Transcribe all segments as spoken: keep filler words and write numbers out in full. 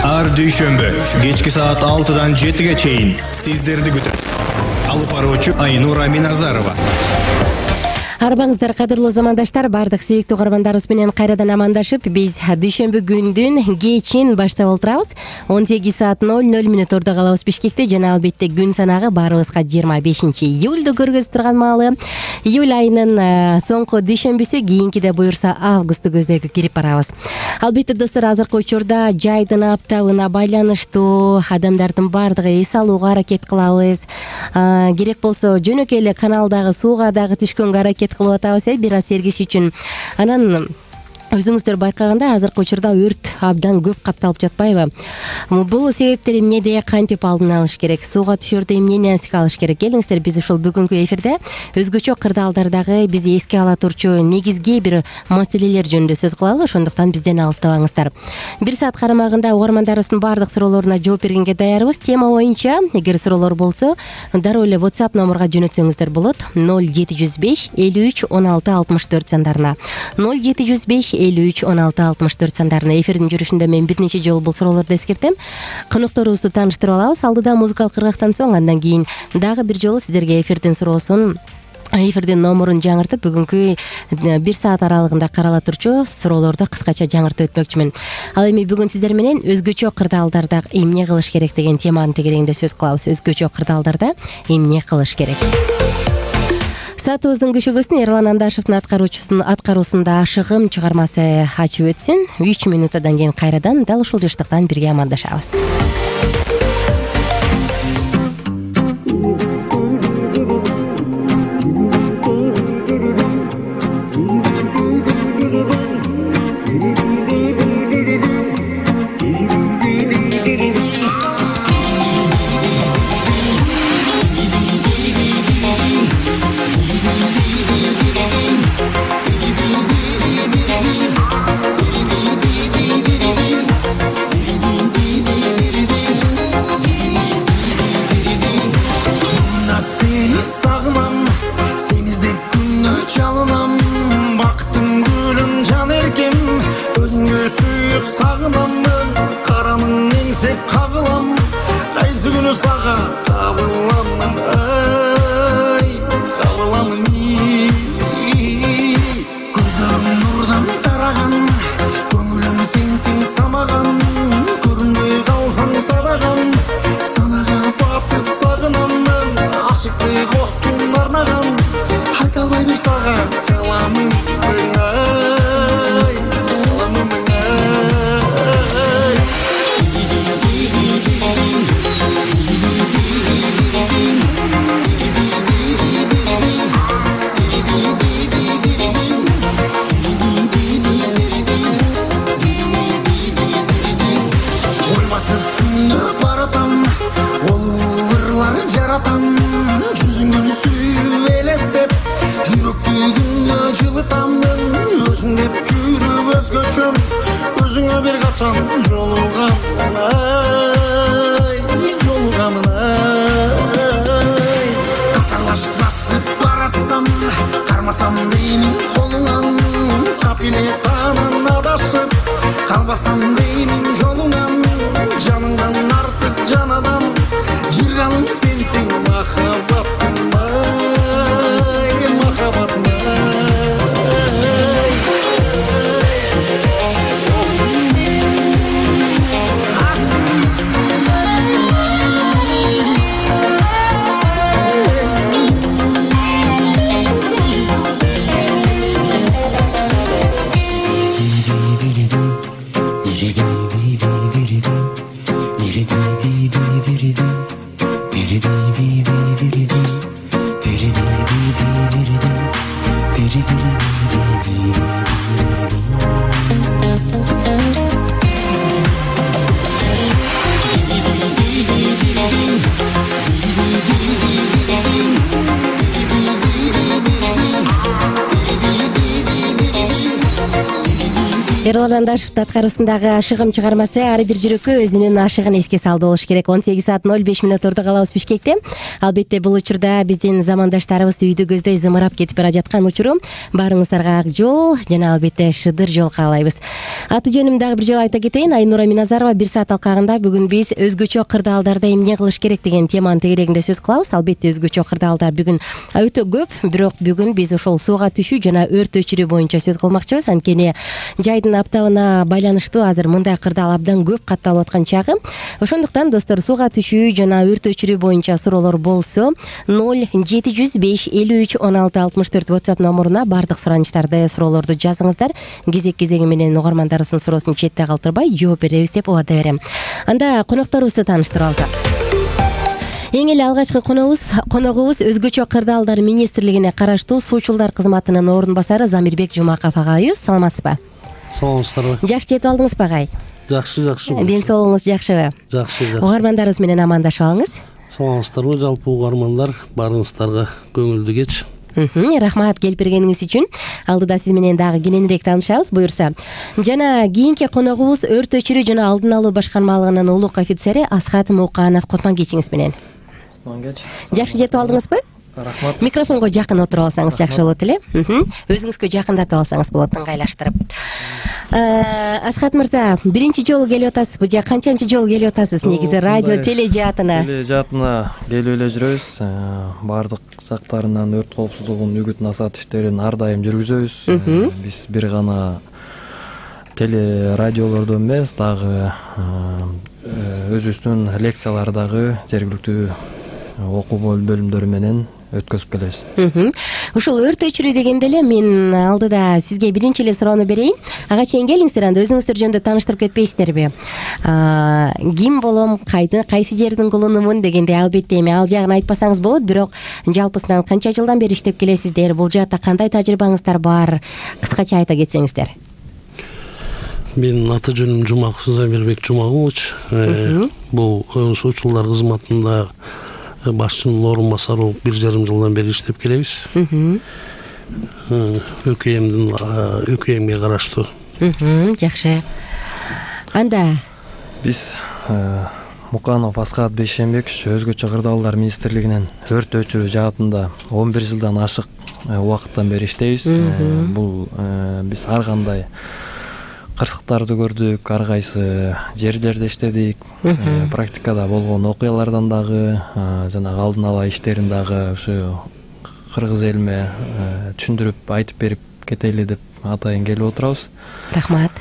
Ар дүйшөмбү кечки саат алтыдан жетиге чейин сиздерди күтөт. Алып баруучу Айнура Миназарова. Арбаңыздар, кадырлуу замандаштар, бардык сүйүктүү каармандарыбыз менен кайрадан амандашып, биз дүйшөмбү күндүн кечин баштап олтурабыз. он сегиз саат ноль ноль мүнөттөрдө калабыз Бишкекте жана албетте күн санагы баарыбызга жыйырма бешинчи июлду көргөзүп турган маалы. Июль айынын соңку дүйшөмбүсү, кийинкиде буюрса августту көздөй кирип барабыз. Албетте достор, азыркы учурда жайдын аптабына байланыштуу адамдардын баардыгы эс алууга аракет кылабыз. Керек болсо жөнөкөй эле каналдагы сууга дагы түшкөнгө аракет кылып атабыз, э бир аз сергиш үчүн. Анан өзүңүздөр байкагандай азыркы учурда өрт абдан көп капталып жатпайбы? Бул себептер эмнеде, кантип алдын алыш керек, сууга түшөрдө эмнени эске алыш керек? Келиңиздер, биз ушул бүгүнкү эфирде өзгөчө кырдаалдардагы бизи эске ала турчу негизги бир маселелер жөнүндө сөз кылалы, ошондуктан бизден алыстабаңыздар. Бир саат карамагында угармандарыбыздын баардык суроолоруна жооп бергенге даярбыз. Тема боюнча эгер суроолор болсо, дароо эле WhatsApp номурга жөнөтсөңүздөр болот. ноль жети жүз беш элүү үч он алты алтымыш төрт сандарына. ноль жети жүз беш элүү үч он алты алтымыш төрт сандарына. Эфирдин жүрүшүндө мен бир нече жолу бул суроолорду эскертем. Конокторубузду тааныштырып алабыз. Алдыда музыкалык кыргактан соң, андан кийин дагы бир жолу сиздерге эфирдин суроосун, эфирдин номурун жаңыртып, бүгүнкү бир саат аралыгында карала турчу суроолорду кыскача жаңыртып өтмөкчүмүн. Ал эми бүгүн сиздер менен өзгөчө кырдаалдарда эмне кылыш керек деген теманын тегерегинде сөз кылабыз. Өзгөчө кырдаалдарда эмне кылыш керек? Саатыбыздын күшөгөсүн Эрлан Андашевдин аткаруучусунун аткаруусунда Ашыгым чыгармасы ачып өтсүн. үч мүнөттөн кийин кайрадан дал ушул жыштыктан бирге амандашабыз. Эрол Арандашев аткаруусундагы Ашыгым чыгармасы ар бир жүрөккө өзүнүн ашыгын эске салды болуш керек. он сегиз саат ноль беш мүнөттөрдө калабыз Бишкекте. Албетте бул учурда биздин замандаштарыбыз үйдү көздөй зымырап кетип бара жаткан учуру. Баарыңыздарга ак жол жана албетте шыдыр жол каалайбыз. Аты жөнүм дагы бир жолу айта кетейин. Айнура Миназарова бир саат алкагында бүгүн биз өзгөчө кырдаалдарда эмне кылыш керек деген теманын тегерегинде сөз кылабыз. Албетте өзгөчө кырдаалдар бүгүн өтө көп, бирок бүгүн биз ошол сууга түшүү жана өрт өчүрүү боюнча сөз кылмакчыбыз. Анткени жайдын аптабына байланыштуу азыр мындай кырдаал абдан көп катталып аткан чагы. Ошондуктан достор, сууга түшүү жана өрт өчүрүү боюнча суроолор болсо ноль жети жүз беш элүү үч он алты алтымыш төрт WhatsApp номуруна бардык суранычтарды, суроолорду жазыңыздар. Кезек кезеги менен угармандарыбыздын суроосун четте калтырбай жооп беребиз деп убада берем. Анда конокторубузду тааныштырып алсак. Эң эле алгачкы коногубуз коногубуз өзгөчө кырдаалдар министрлигине караштуу суучулдар кызматынын орун басары Замирбек Жумаков агайыбыз. Саламатсызбы? Саламатсыздарбы? Жакшы жетип алдыңызбы агай? Жакшы, жакшы. Ден соолугуңуз жакшыбы? Жакшы, жакшы. Угармандарыбыз менен амандашып алыңыз. Саламатсыздарбы? Жалпы угармандар, баарыңыздарга көңүлдүү кеч. Рахмат келип бергениңиз үчүн. Алдыда сиз менен дагы кененирээк таанышабыз, буюрса. Жана кийинки коногубуз өрт өчүрүү жана алдын алуу башкармалыгынын улук офицери Асхат Муканов. Кутман кечиңиз менен. Кутман кеч. Жакшы жетип алдыңызбы? Рахмат. Микрофонго жакын отуруп алсаңыз жакшы болот эле. Өзүңүзгө жакындатып алсаңыз болот, ыңгайлаштырып. Асхат мырза, биринчи жолу келип атасызбы же канчанчы жолу келип атасыз негизи радио теле жаатына? Теле жаатына келип эле жүрөбүз. Баардык жактарынан өрт коопсуздугунун үгүт насаат иштерин ар дайым жүргүзөбүз. Биз бир гана теле радиолордо эмес, дагы өзүбүздүн лекциялардагы жергиликтүү окуу бөлүмдөрү менен өткөзүп келебиз. Ушул өрт өчүрүү дегенде эле мен алдыда сизге биринчи эле суроону берейин. Ага чейин келиңиздер, анда өзүңүздөр жөнүндө тааныштырып кетпейсиздерби? Ким болом, кайды, кайсы жердин кулунумун дегенде албетте эми ал жагын айтпасаңыз болот, бирок жалпысынан канча жылдан бери иштеп келесиздер? Бул жаатта кандай тажрыйбаңыздар бар? Кыскача айта кетсеңиздер. Менин аты жөнүм Жумаков Замирбек Жумакович. Бул суучулдар кызматында башчынын орун басары болуп бир жарым жылдан бери иштеп келебиз. ӨКМдин ӨКМге караштуу. Жакшы. Анда биз Муканов Асхат Бейшембекович өзгөчө кырдаалдар министрлигинен өрт өчүрүү жаатында он бир жылдан ашык убакыттан бери иштейбиз. Бул биз ар кандай кырсыктарды көрдүк, ар кайсы жерлерде иштедик, практикада болгон окуялардан дагы жана алдын ала иштерин дагы ушу кыргыз элиме түшүндүрүп айтып берип кетели деп атайын келип отурабыз. Рахмат.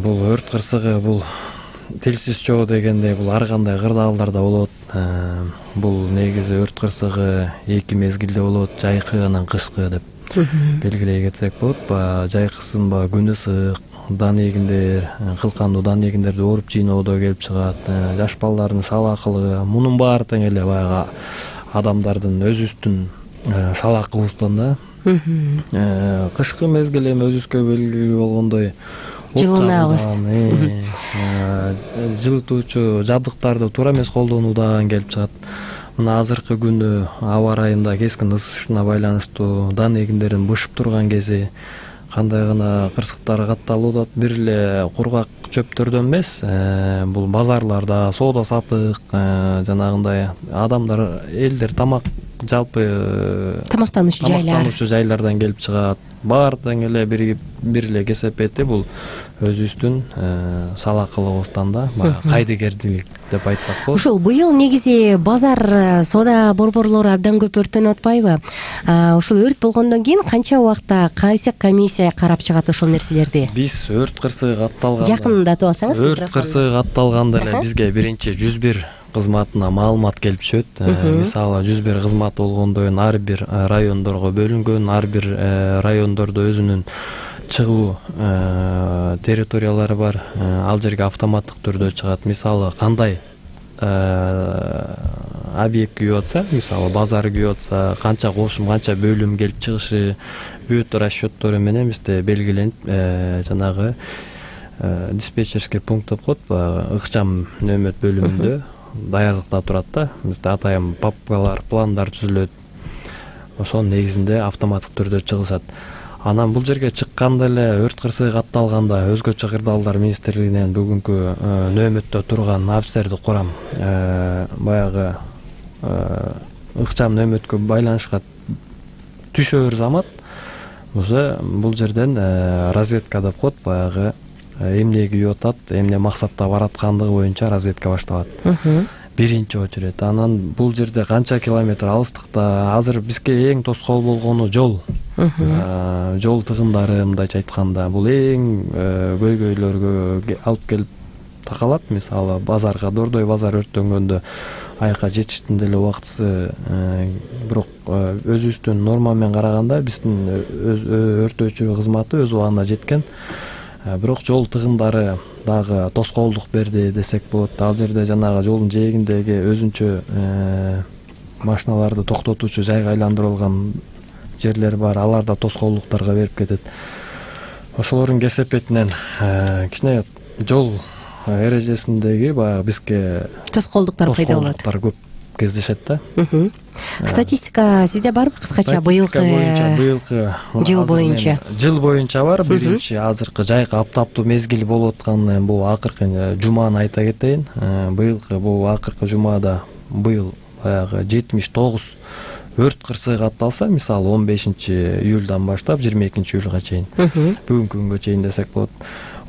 Бул өрт кырсыгы, бул телсиз чоо дегендей, бул ар кандай кырдаалдарда болот. Бул негизи өрт кырсыгы эки мезгилде болот, жайкы анан кышкы деп белгилей кетсек болот. Баягы жайкысын баягы күн ысык, дан эгиндер, кылкандуу дан эгиндерди ооруп жийноодо келип чыгат. Жаш балдардын салаакылыгы, мунун баары тең эле баягы адамдардын өзүбүздүн салаакыбыздан да. Кышкы мезгил эми өзүбүзгө белгилүү болгондой жылынабыз. Жылытуучу жабдыктарды туура эмес колдонуудан келип чыгат. Мына азыркы күнү аба ырайында кескин ысышына байланыштуу дан эгиндерин бышып турган кези, кандай гана кырсыктар катталып атат. Бир эле кургак чөптөрдөн эмес, бул базарларда соода саттык, жанагындай адамдар, элдер тамак, жалпы тамактануучу жайлар тамактануучу жайлардан келип чыгат. Баары тең эле биригип бир эле кесепети бул өзүбүздүн салаакылыгыбыздан да баягы кайдыгерчилик деп айтсак болот. Ушул быйыл негизи базар соода борборлору абдан көп өрттөнүп атпайбы? Ушул өрт болгондон кийин канча убакта кайсы комиссия карап чыгат ошол нерселерди? Биз өрт кырсыгы катталганда, жакындатып алсаңыз, өрт кырсыгы катталганда эле бизге биринчи жүз бир кызматына маалымат келип түшөт. Мисалы жүз бир кызмат болгондон кийин ар бир райондорго бөлүнгөн, ар бир райондордо өзүнүн чыгуу территориялары бар. Ал жерге автоматтык түрдө чыгат. Мисалы кандай объект күйүп атса, мисалы базар күйүп атса, канча кошум, канча бөлүм келип чыгышы бүт расчёттору менен бизде белгиленип, жанагы диспетчерский пункт деп коет, ыкчам нөмөт бөлүмүндө даярдыкта турат да. Бизде атайын папкалар, пландар түзүлөт. Ошонун негизинде автоматтык түрдө чыгышат. Анан бул жерге чыкканда эле өрт кырсыгы катталганда өзгөчө кырдаалдар министрлигинен бүгүнкү нөөмөттө турган офицерди курам баягы ыкчам нөөмөткө байланышка түшөөр замат уже бул жерден разведка деп коет, баягы эмне күйүп атат, эмне максатта бараткандыгы боюнча разведка башталат биринчи очередь. Анан бул жерде канча километр алыстыкта, азыр бизге эң тоскоол болгону жол жол тыгындары. Мындайча айтканда бул эң көйгөйлөргө алып келип такалат. Мисалы базарга, Дордой базар өрттөнгөндө айка жетиштин деле убактысы, бирок өзүбүздүн норма менен караганда биздин өрттөөчү кызматы өз убагында жеткен. Бирок жол тыгындары дагы тоскоолдук берди десек болот. Ал жерде жанагы жолдун жээгиндеги өзүнчө машиналарды токтотуучу жайга айландырылган жерлер бар. Алар да тоскоолдуктарга берип кетет. Ошолордун кесепетинен кичине жол эрежесиндеги баягы бизге тоскоолдуктар пайда болот. Тоскоолдуктар көп кездешет да. Статистика сизде барбы кыскача быйылкы быйылкы жыл боюнча? Жыл боюнча бар. Биринчи азыркы жайкы аптаптуу мезгил болуп аткан бул акыркы жуманы айта кетейин. Быйылкы бул акыркы жумада быйыл баягы жетимиш тогуз өрт кырсыгы катталса, мисалы он бешинчи июлдан баштап жыйырма экинчи июлга чейин, бүгүнкү күнгө чейин десек болот.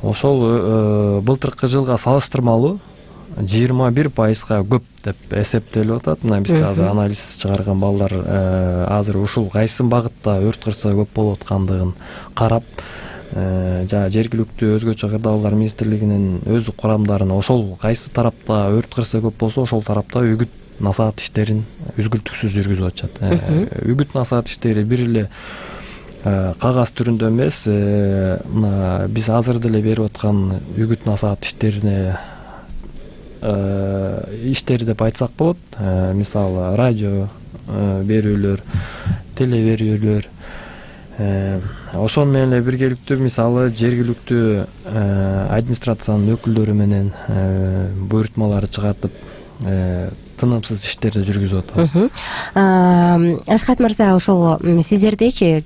Ошол былтыркы жылга салыштырмалуу жыйырма бир пайызга көп деп эсептелип атат. Мына бизде азыр анализ чыгарган балдар азыр ушул кайсы багытта өрт кырсыгы көп болуп аткандыгын карап, жана жергиликтүү өзгөчө кырдаалдар министрлигинин өз курамдарына ошол кайсы тарапта өрт кырсыгы көп болсо, ошол тарапта үгүт насаат иштерин үзгүлтүксүз жүргүзүп атышат. Үгүт насаат иштери бир эле кагаз түрүндө эмес, мына биз азыр деле берип аткан үгүт насаат иштерине иштери деп айтсак болот. Мисалы радио берүүлөр, теле берүүлөр, ошон менен эле биргеликтүү мисалы жергиликтүү администрациянын өкүлдөрү менен буйртмалар чыгартып тынымсыз иштерди жүргүзүп атабыз. Асхат мырза, ошол сиздердечи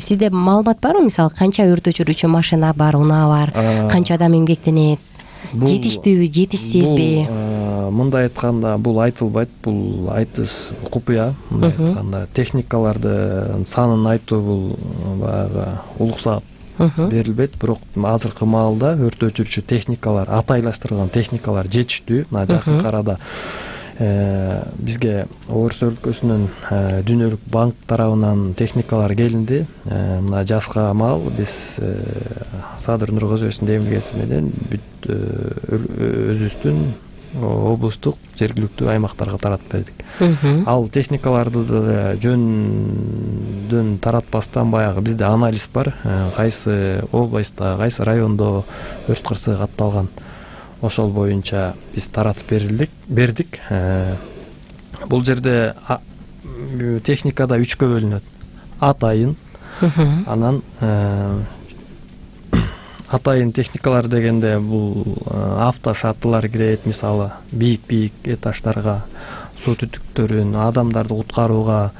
сизде маалымат барбы? Мисалы канча өрт өчүрүүчү машина бар, унаа бар, канча адам эмгектенет? Жетиштүүбү, жетишсизби? Мындай айтканда бул айтылбайт, бул айтыш купуя. Мындай айтканда техникалардын санын айтуу бул баягы улуксаат берилбейт, бирок азыркы маалда өрт өчүрүүчү техникалар, атайлаштырылган техникалар жетиштүү. Мына жакынкы арада бизге Орус өлкөсүнүн Дүнөлүк банк тарабынан техникалар келинди. Мына жазга маал биз Садыр Нуркожоевичтин демилгеси менен бүт өзүбүздүн облустук жергиликтүү аймактарга таратып бердик. Ал техникаларды жөндөн таратпастан баягы бизде анализ бар, кайсы областта, кайсы райондо өрт кырсыгы катталган. Ошол боюнча биз таратып берилдик, бердик. Бул жерде техникада үчкө бөлүнөт. Атайын, анан атайын техникалар дегенде бул автошаттылар кирет, мисалы бийик-бийик этаждарга, суу түтүктөрүн, адамдарды куткарууга.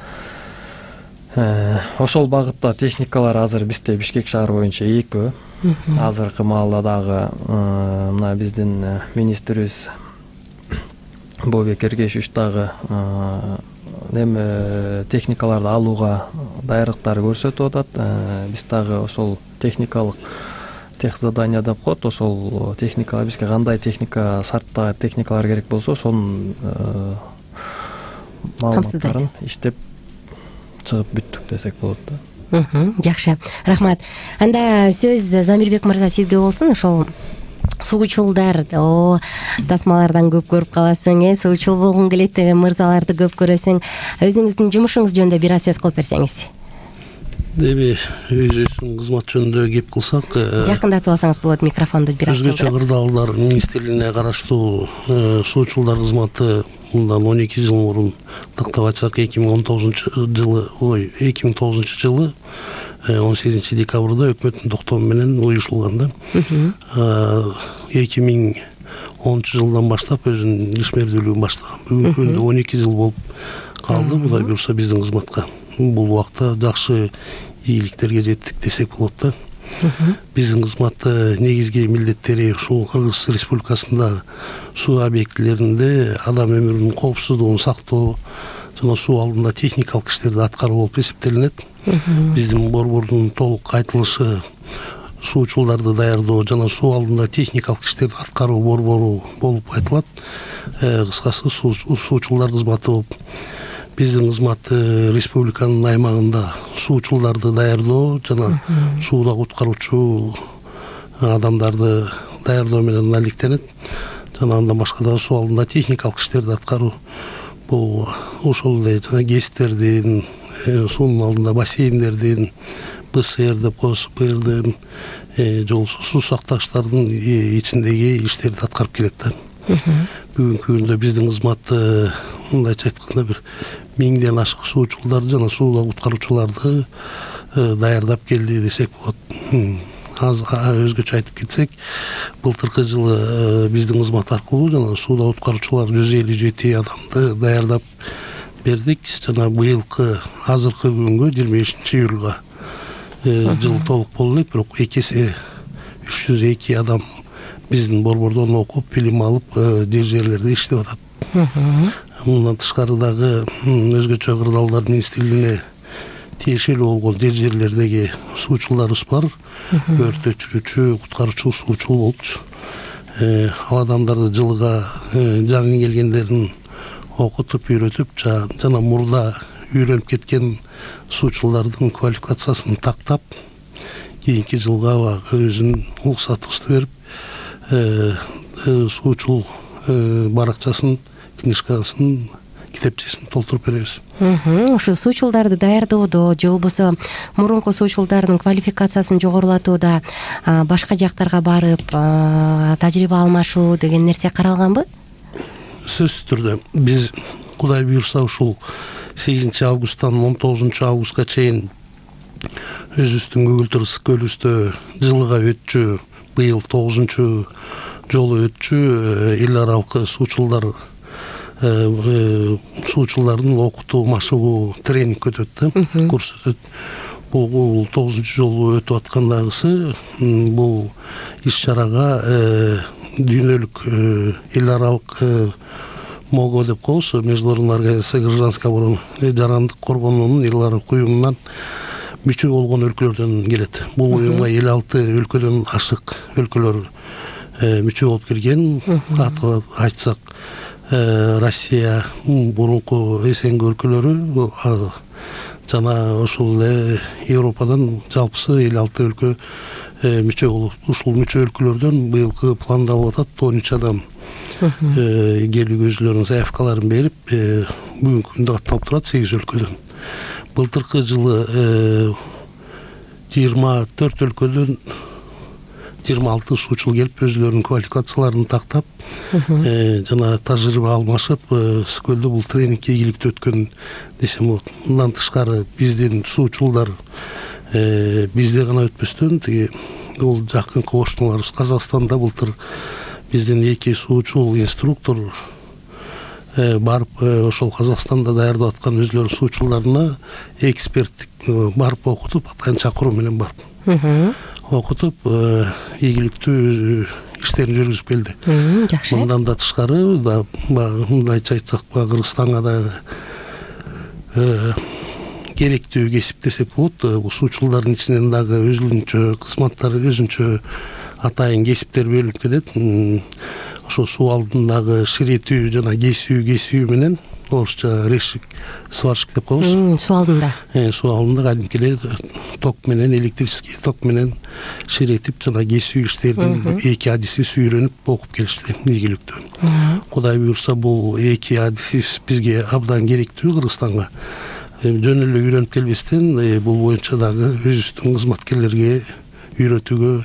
Ошол багытта техникалар азыр бизде Бишкек шаар боюнча экөө. Азыркы маалда дагы мына биздин министрибиз Бобек Эргешевич дагы неме техникаларды алууга даярдыктар көрсөтүп атат. Биз дагы ошол техникалык техзадание деп коет, ошол техникалар бизге кандай техника шартта техникалар керек болсо, ошонун маалыматтарын иштеп чыгып бүттүк десек болот да. Жакшы, рахмат. Анда сөз Замирбек мырза сизге болсун. Ошол суучулдар, о тасмалардан көп көрүп каласың, э, суучул болгуң келет деген мырзаларды көп көрөсүң. Өзүңүздүн жумушуңуз жөнүндө бир аз сөз кылып берсеңиз. Деби өзүбүздүн кызмат жөнүндө кеп кылсак, жакындатып алсаңыз болот микрофонду бир аз. Өзгөчө кырдаалдар министрлигине караштуу суучулдар кызматы мындан он эки жыл мурун, тактап айтсак эки миң он тогузунчу жылы, ой, эки миң тогузунчу жылы он сегизинчи декабрда өкмөттүн токтому менен уюшулган да. эки миң онунчу жылдан баштап өзүнүн ишмердүүлүгүн баштаган. Бүгүнкү күндө он эки жыл болуп калды. Кудай буюрса биздин кызматка бул убакта жакшы ийгиликтерге жеттик десек болот да. Биздин кызматтын негизги милдеттери ушул Кыргыз Республикасында суу объектилеринде адам өмүрүнүн коопсуздугун сактоо жана суу алдында техникалык иштерди аткаруу болуп эсептелинет. Биздин борбордун толук айтылышы суучулдарды даярдоо жана суу алдында техникалык иштерди аткаруу борбору болуп айтылат. Кыскасы суучулдар кызматы болуп, биздин кызмат республиканын аймагында суучулдарды даярдоо жана сууда куткаруучу адамдарды даярдоо менен алектенет. Жана андан башка дагы суу алдында техникалык иштерди аткаруу. Бул ошол эле жана гэстердин, суунун алдында бассейндердин, БСР деп коебуз, БРД, же болбосо суу сактагычтардын ичиндеги иштерди аткарып келет да. Бүгүнкү күндө биздин кызматты мындайча айтканда бир миңден ашык суучулдар жана сууда куткаруучуларды даярдап келди десек болот. Аз өзгөчө айтып кетсек, былтыркы жылы биздин кызмат аркылуу жана сууда куткаруучулар жүз элүү жети адамды даярдап бердик. Жана быйылкы азыркы күнгө жыйырма бешинчи июлга жыл толук болду элек, бирок эки эсе үч жүз эки адам биздин борбордон окуп, билим алып, жер жерлерде иштеп атат. Мындан тышкары дагы өзгөчө кырдаалдар министрлигине тиешелүү болгон жер жерлердеги суучулдарыбыз бар. Өрт өчүрүүчү, куткаруучу суучул болчу. Ал адамдарды жылга жаңы келгендерин окутуп, үйрөтүп, жана мурда үйрөнүп кеткен суучулдардын квалификациясын тактап, кийинки жылга багы өзүнүн уруксатыбызды берип, суучул баракчасын, книжкасын, китепчесин толтуруп беребиз. Ушу суучулдарды даярдоодо же болбосо мурунку суучулдардын квалификациясын жогорулатууда башка жактарга барып, тажрыйба алмашуу деген нерсе каралганбы? Сөзсүз түрдө биз Кудай буйрса ушул сегизинчи августтан он тогузунчу августка чейин өзүбүздүн Көгүлтүр ысык көлүбүздө жылга өтчү, быйыл тогузунчу жолу өтчү эл аралык суучулдар суучулдардын окутуу, машыгуу тренинг өтөт да, курс өтөт. Бул тогузунчу жолу өтүп аткандагысы, бул иш-чарага дүйнөлүк эл аралык МОГО деп коебуз, Международная организация гражданской обороны, жарандык коргоонуунун эл аралык уюмунан мүчө болгон өлкөлөрдөн келет. Бул уюмга элүү алты өлкөдөн ашык өлкөлөр мүчө болуп келген. Атап айтсак, Россия, мурунку СНГ өлкөлөрү жана ошол эле Европадан жалпысы элүү алты өлкө мүчө болуп, ушул мүчө өлкөлөрдөн быйылкы пландалып атат он үч адам келүүгө өзүлөрүнүн заявкаларын берип, бүгүнкү күндө катталып турат сегиз өлкөдөн. Былтыркы жылы жыйырма төрт өлкөдөн жыйырма алты суучул келип, өзүлөрүнүн квалификацияларын тактап, жана тажрыйба алмашып, Ысык-Көлдө бул тренинг ийгиликтүү өткөн десем болот. Мындан тышкары биздин суучулдар бизде гана өтпөстөн, тиги бул жакын кошуналарыбыз Казакстанда былтыр биздин эки суучул инструктор барып, ошол Казакстанда даярдап аткан өзүлөрүнүн суучулдарына эксперттик барып окутуп, атайын чакыруу менен барып окутуп, ийгиликтүү иштерин жүргүзүп келди. Жакшы. Мындан да тышкары, мындайча айтсак, Кыргызстанга дагы керектүү кесип десек болот. Бул суучулдардын ичинен дагы өзүнчө кызматтар, өзүнчө атайын кесиптер бөлүнүп келет. Ошо суу алдындагы ширетүү жана кесүү кесүү менен, орусча решик, сварщик деп коебуз. Суу алдында. Суу алдында кадимки эле ток менен, электрический ток менен ширетип жана кесүү иштерин эки адисибиз үйрөнүп окуп келишти ийгиликтүү. Кудай буйрса, бул эки адисибиз бизге абдан керектүү Кыргызстанга. Жөн эле үйрөнүп келбестен, бул боюнча дагы өзүбүздүн кызматкерлерге үйрөтүүгө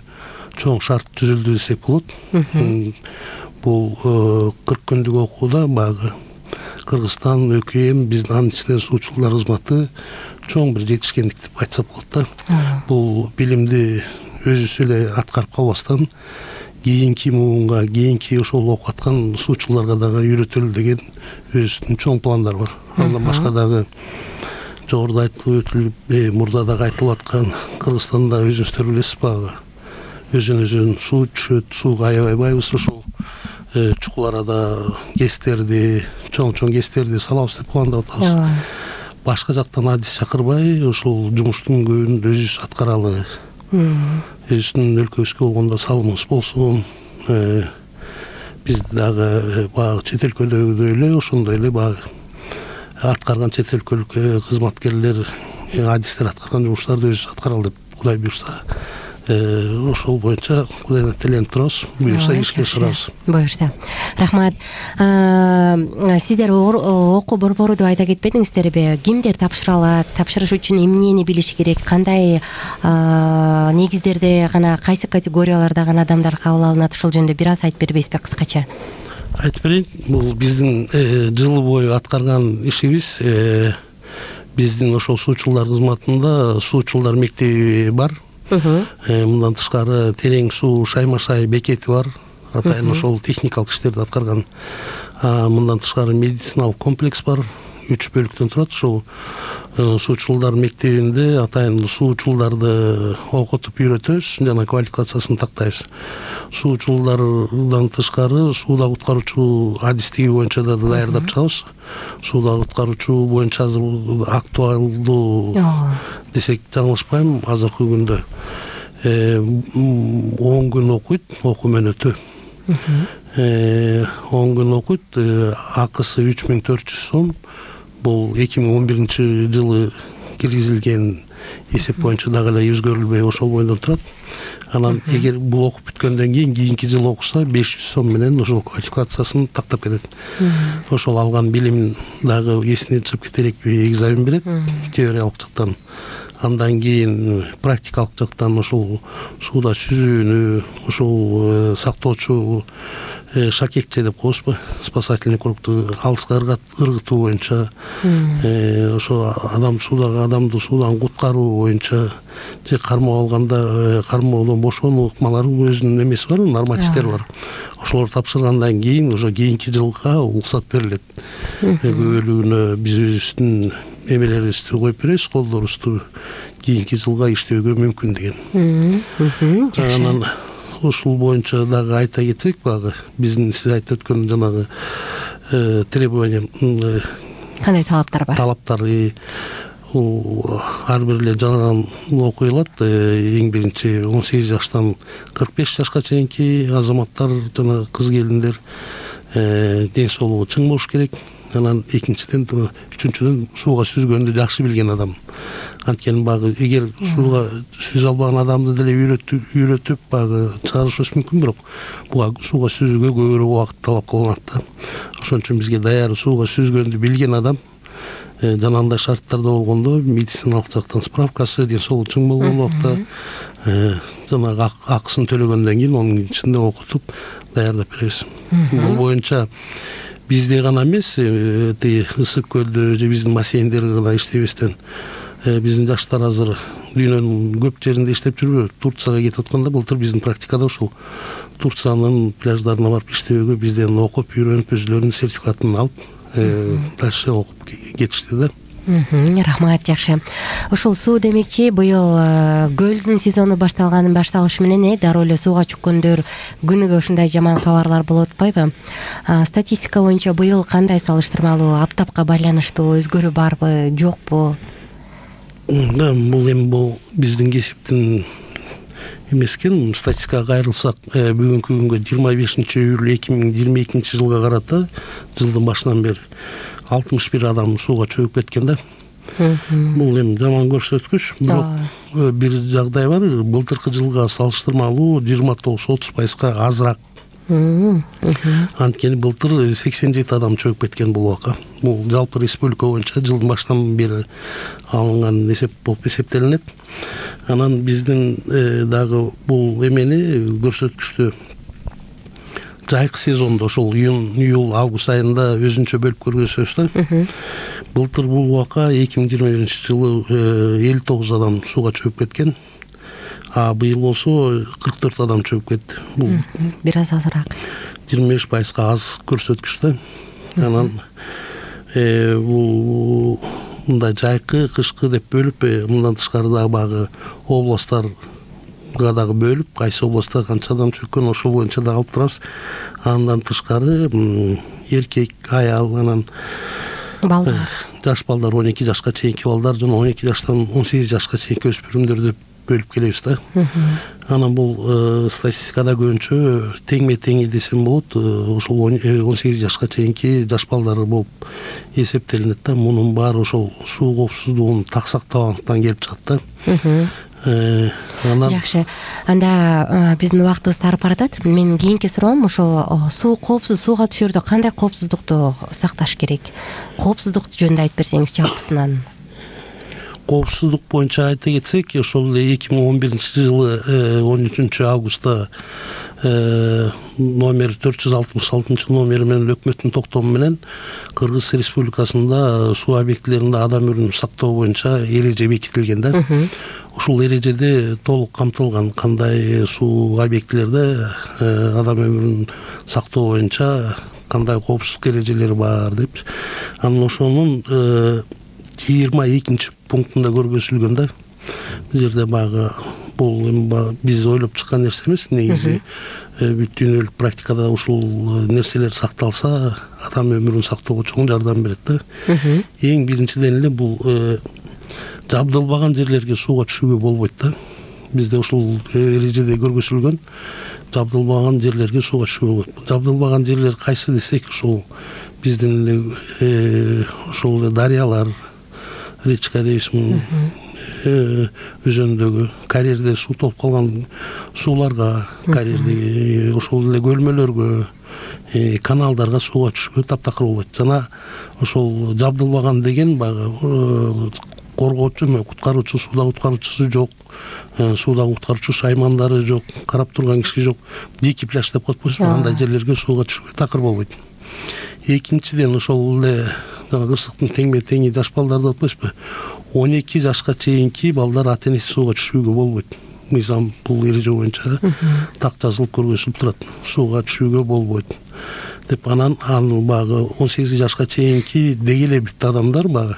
чоң шарт түзүлдү десек болот. Бул кырк күндүк окууда багы Кыргызстан, ӨКМ, биздин анын ичинен суучулдар кызматы чоң бир жетишкендик деп айтсак болот да. Бул билимди өзүбүз эле аткарып калбастан, кийинки муунга, кийинки ошол окуп аткан суучуларга дагы үйрөтөлү деген өзүбүздүн чоң пландар бар. Андан башка дагы жогоруда айтылып өтүлүп, мурда дагы айтылып аткан Кыргызстанда өзүңүздөр билесиз баягы өзүн-өзүн суу түшөт, сууга аябайбайбыз, ушул чукул арада гэстерди, чоң-чоң гэстерди салабыз деп пландап атабыз. Башка жактан адис чакырбай, ушул жумуштун көбүн өзүбүз аткаралы. Өзүбүздүн өлкөбүзгө болгондо салымыбыз болсун. Биз дагы баягы чет өлкөдөгүдөй эле ошондой эле баягы аткарган чет өлкөлүк кызматкерлер, адистер аткарган жумуштарды өзүбүз аткаралы деп Кудай буйрса, ошол боюнча Кудайдан тиленип турабыз. Буюрса ишке ашырабыз. Буюрса. Рахмат. Сиздер окуу борбору деп айта кетпедиңиздерби? Кимдер тапшыра алат? Тапшырыш үчүн эмнени билиш керек? Кандай негиздерде гана, кайсы категорияларда гана адамдар кабыл алынат? Ушул жөнүндө бир аз айтып бербейсизби кыскача? Айтып берейин. Бул биздин жыл бою аткарган ишибиз. Биздин ошол суучулдар кызматында суучулдар мектеби бар. Мындан тышкары терең суу шаймашай бекети бар. Атайын ошол техникалык иштерди аткарган. Мындан тышкары медициналык комплекс бар. Үч бөлүктөн турат. Ошол суучулдар мектебинде атайын суучулдарды окутуп үйрөтөбүз жана квалификациясын тактайбыз. Суучулдардан тышкары сууда куткаруучу адистиги боюнча да даярдап чыгабыз. Сууда куткаруучу боюнча азыр актуалдуу десек жаңылышпайм, азыркы күндө он күн окуйт, окуу мөөнөтү. он күн окуйт, акысы үч миң төрт жүз сом. Бул эки миң он биринчи жылы киргизилген эсеп боюнча дагы эле өзгөрүлбөй ошол боюнда турат. Анан эгер бул окуп бүткөндөн кийин кийинки жылы окуса беш жүз сом менен ошол квалификациясын тактап кетет. Ошол алган билимин дагы эсине чыгып кетерекпи экзамен берет теориялык жактан. Андан кийин практикалык жактан ошол сууда сүзүүнү, ошол сактоочу шакекче деп коебузбу, спасательный кругту алыска ыргытуу боюнча, ошо адам суудагы адамды суудан куткаруу боюнча, же кармоо алганда кармоодон бошонуу ыкмалары өзүнүн эмеси бар, нормативдери бар. Ошолорду тапшыргандан кийин ошо кийинки жылга уруксат берилет. Көбөлүгүнө биз өзүбүздүн эмелерибизди коюп беребиз, колдорубузду кийинки жылга иштөөгө мүмкүн деген. Анан ушул боюнча дагы айта кетсек, багы биздин сиз айтып өткөн жанагы требования, кандай талаптар бар? Талаптар ар бир эле жаран окуйлат. Эң биринчи он сегиз жаштан кырк беш жашка чейинки азаматтар жана кыз келиндер ден соолугу чың болуш керек. Анан экинчиден, үчүнчүдөн сууга сүзгөндү жакшы билген адам. Анткени багы эгер сууга сүзө албаган адамды деле үйрөтүп, үйрөтүп багы чыгарышыбыз мүмкүн, бирок буга сууга сүзүүгө көбүрөөк убакыт талап кылынат да. Ошон үчүн бизге даяр сууга сүзгөндү билген адам, жана андай шарттарда болгондо медициналык жактан справкасы, ден соолугу чың болгон убакта жанагы акысын төлөгөндөн кийин анын ичинде окутуп даярдап беребиз. Бул боюнча бизде гана эмес, ысык көлдө же биздин бассейндерде гана иштебестен, биздин жаштар азыр дүйнөнүн көп жеринде иштеп жүрбү. Турцияга кетип атканда былтыр биздин практикада ушул Турциянын пляждарына барып иштөөгө бизден окуп, үйрөнүп, өзүлөрүнүн сертификатын алып, дальше окуп кетишти да. Рахмат, жакшы. Ушул суу демекчи, быйыл көлдүн сезону башталган башталышы менен дароо эле сууга чүккөндөр күнүгө ушундай жаман кабарлар болуп атпайбы? Статистика боюнча быйыл кандай салыштырмалуу, аптапка байланыштуу өзгөрүү барбы, жокпу? Да, бул эми бул биздин кесиптин эмес экен. Статистикага кайрылсак, бүгүнкү күнгө жыйырма бешинчи июль эки миң жыйырма экинчи жылга карата жылдын башынан бери алтымыш бир адам сууга чөгүп кеткен да. Бул эми жаман көрсөткүч, бирок бир жагдай бар. Былтыркы жылга салыштырмалуу жыйырма тогуз отуз пайызга азыраак. Анткени былтыр сексен жети адам чөгүп кеткен бул убакка. Бул жалпы республика боюнча жылдын башынан бери алынган эсеп болуп эсептелинет. Анан биздин дагы бул эмени көрсөткүчтү жайкы сезондо, ошол июнь, июль, август айында өзүнчө бөлүп көрсөтөбүз да. Былтыр бул убакка эки миң жыйырма биринчи жылы элүү тогуз адам сууга чөгүп кеткен. А быйыл болсо кырк төрт адам чөгүп кетти. Бул бир аз азыраак. жыйырма беш пайызга аз көрсөткүч да. Анан бул мындай жайкы, кышкы деп бөлүп, мындан тышкары дагы баягы областтарга дагы бөлүп, кайсы областта канча адам чөккөн ошол боюнча дагы алып турабыз. Андан тышкары эркек, аял, анан балдар, жаш балдар, он эки жашка чейинки балдар жана он эки жаштан он сегиз жашка чейинки өспүрүмдөр деп бөлүп келебиз да. Анан бул статистикада көбүнчө теңме теңи десем болот, ошол он сегиз жашка чейинки жаш балдар болуп эсептелинет да. Мунун баары ошол суу коопсуздугун так сактабагандыктан келип чыгат да. Анан жакшы. Анда биздин убактыбыз тарып баратат. Менин кийинки суроом ошол суу коопсуз, сууга түшөрдө кандай коопсуздукту сакташ керек? Коопсуздук жөнүндө айтып берсеңиз жалпысынан. Коопсуздук боюнча айта кетсек, ошол эле эки миң он биринчи жылы он үчүнчү августта номер төрт жүз алтымыш алтынчы номери менен өкмөттүн токтому менен Кыргыз Республикасында суу объектилеринде адам өмүрүн сактоо боюнча эреже бекитилген да. Ушул эрежеде толук камтылган кандай суу объектилерде адам өмүрүн сактоо боюнча кандай коопсуздук эрежелери бар деп. Анан ошонун жыйырма экинчи пунктунда көргөзүлгөн да. Бул жерде баягы бул биз ойлоп чыккан нерсе эмес, негизи бүт дүйнөлүк практикада ушул нерселер сакталса, адам өмүрүн сактоого чоң жардам берет да. Эң биринчиден эле бул жабдылбаган жерлерге сууга түшүүгө болбойт да. Бизде ушул эрежеде көргөзүлгөн жабдылбаган жерлерге сууга түшүүгө болбойт. Жабдылбаган жерлер кайсы десек, ушул биздин эле ушул дарыялар, речка дейсиң, өзөндөгү карьерде суу толуп калган сууларга, карьердеги ошол эле көлмөлөргө, каналдарга сууга түшүүгө таптакыр болот. Жана ошол жабдылбаган деген баягы коргоочу, куткаруучу, сууда куткаруучусу жок, сууда куткаруучу шаймандары жок, карап турган киши жок, дикий пляж деп коет болчу, андай жерлерге сууга түшүүгө такыр болбойт. Экинчиден ошол эле жана кырсыктын теңме теңи жаш балдар деп атпайсызбы? он эки жашка чейинки балдар ата энеси сууга түшүүгө болбойт. Мыйзам бул эреже боюнча так жазылып көргөзүлүп турат. Сууга түшүүгө болбойт деп. Анан аны багы он сегиз жашка чейинки дегеле бүт адамдар багы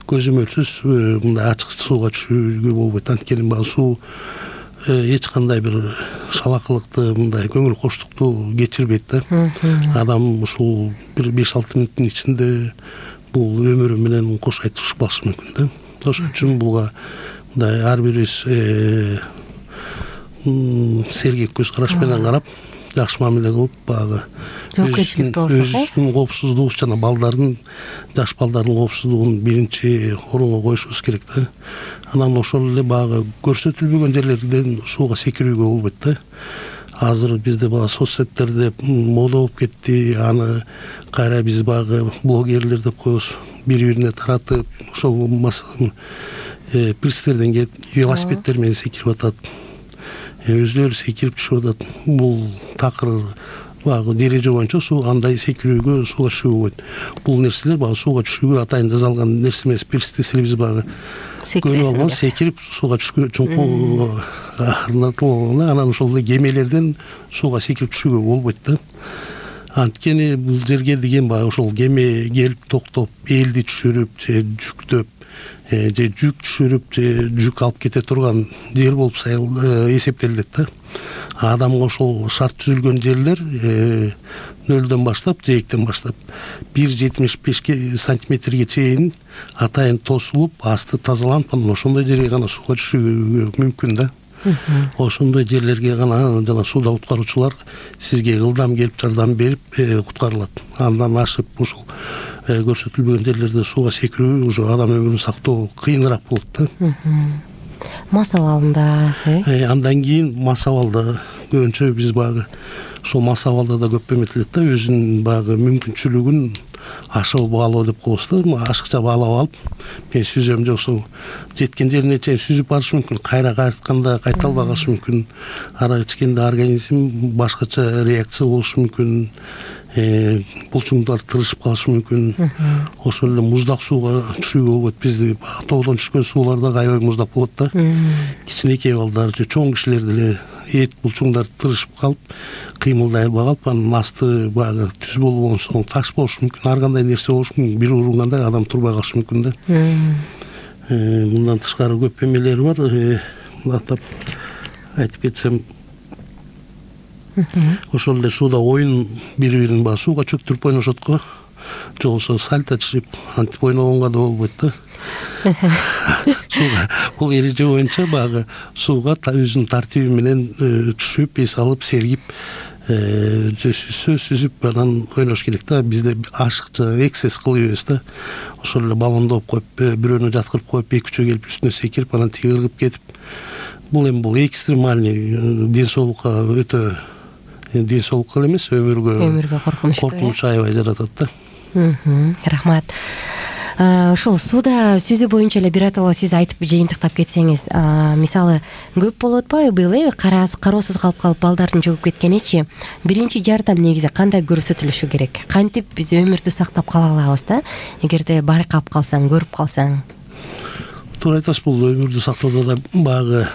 көзөмөлсүз мындай ачык сууга түшүүгө болбойт. Анткени багы суу эч кандай бир шалакылыкты, мындай көңүл коштукту кечирбейт да. Адам ушул бир беш алты мүнөттүн ичинде бул өмүрү менен кош айтышып калышы мүмкүн да. Ошон үчүн буга мындай ар бирибиз сергек көз караш менен карап, жакшы мамиле кылып, багы өзүбүздүн коопсуздугубуз жана балдардын, жаш балдардын коопсуздугун биринчи орунга коюшубуз керек да. Анан ошол эле багы көрсөтүлбөгөн жерлерден сууга секирүүгө болбойт да. Азыр бизде багы соцсеттерде мода болуп кетти, аны кайра биз багы блогерлер деп коебуз, бири-бирине таратып, ошол пристерден келип велосипедтер менен секирип атат. Өзүлөрү секирип түшүп атат. Бул такыр багы эреже боюнча суу андай секирүүгө, сууга түшүүгө болбойт. Бул нерселер багы сууга түшүүгө атайын жасалган нерсе эмес. Пирс десе биз багы көрүп секирип сууга түшкө чуңкуу орнотулган, анан ошол эле кемелерден сууга секирип түшүүгө болбойт да. Анткени бул жерге деген баягы ошол кеме келип токтоп, элди түшүрүп же жүктөп, же жүк түшүрүп, же жүк алып кете турган жер болуп эсептелет да. Адамга ошол шарт түзүлгөн жерлер нөлдөн баштап, жээктен баштап бир жетимиш беш сантиметрге чейин атайын тосулуп, асты тазаланып, анан ошондой жерге гана сууга түшүүгө мүмкүн да. Ошондой жерлерге гана жана сууда куткаруучулар сизге ылдам келип жардам берип куткарылат. Андан ашып ушул көрсөтүлбөгөн жерлерде сууга секирүү уже адам өмүрүн сактоо кыйыныраак болот да. Мас абалында, э? Андан кийин мас абалда көбүнчө биз багы ошол мас абалда да көп эметилет да, өзүнүн багы мүмкүнчүлүгүн ашып баалоо деп коебуз да. Ашыкча баалап алып, мен сүзөм же ошол жеткен жерине чейин сүзүп барышы мүмкүн, кайра кайтканда кайта албай калышы мүмкүн. Ара ичкенде организм башкача реакция болушу мүмкүн. булчуңдар тырышып калышы мүмкүн. Ошол эле муздак сууга түшүүгө болот. Бизде тоодон түшкөн сууларда аябай муздак болот да. Кичинекей балдар же чоң кишилер деле эт булчуңдар тырышып калып, кыймылдай албай калып, анын асты баягы түз болгон соң таш болушу мүмкүн, ар кандай нерсе болушу мүмкүн. Бир урунганда адам турбай калышы мүмкүн да. Мындан тышкары көп эмелер бар. Атап айтып кетсем, ошол эле сууда оюн бири-бирин баягы сууга чөктүрүп ойношот го. Же болбосо сальто чыгып, антип ойногонго да болбойт да. Сууга бул эреже боюнча баягы сууга өзүнүн тартиби менен түшүп, эс алып, сергип, же сүзсө сүзүп анан ойнош керек да. Бизде ашыкча эксцесс кылбайбыз да. Ошол эле баллондоп коюп, бирөөнү жаткырып коюп, эки үчөө келип үстүнө секирип, анан тиги ыргып кетип. Бул эми бул экстремальный ден соолукка өтө ден соолукка эле эмес, өмүргө өмүргө коркунучтуу. Коркунуч аябай жаратат да. Рахмат. Ошол сууда сүзүү боюнча эле биротоло сиз айтып жыйынтыктап кетсеңиз, мисалы көп болуп атпайбы быйыл э кароосуз калып калып балдардын жогуп кеткеничи, биринчи жардам негизи кандай көрсөтүлүшү керек? Кантип биз өмүрдү сактап кала алабыз да, эгерде байкап калсаң, көрүп калсаң? Туура айтасыз, бул өмүрдү сактоодо да баягы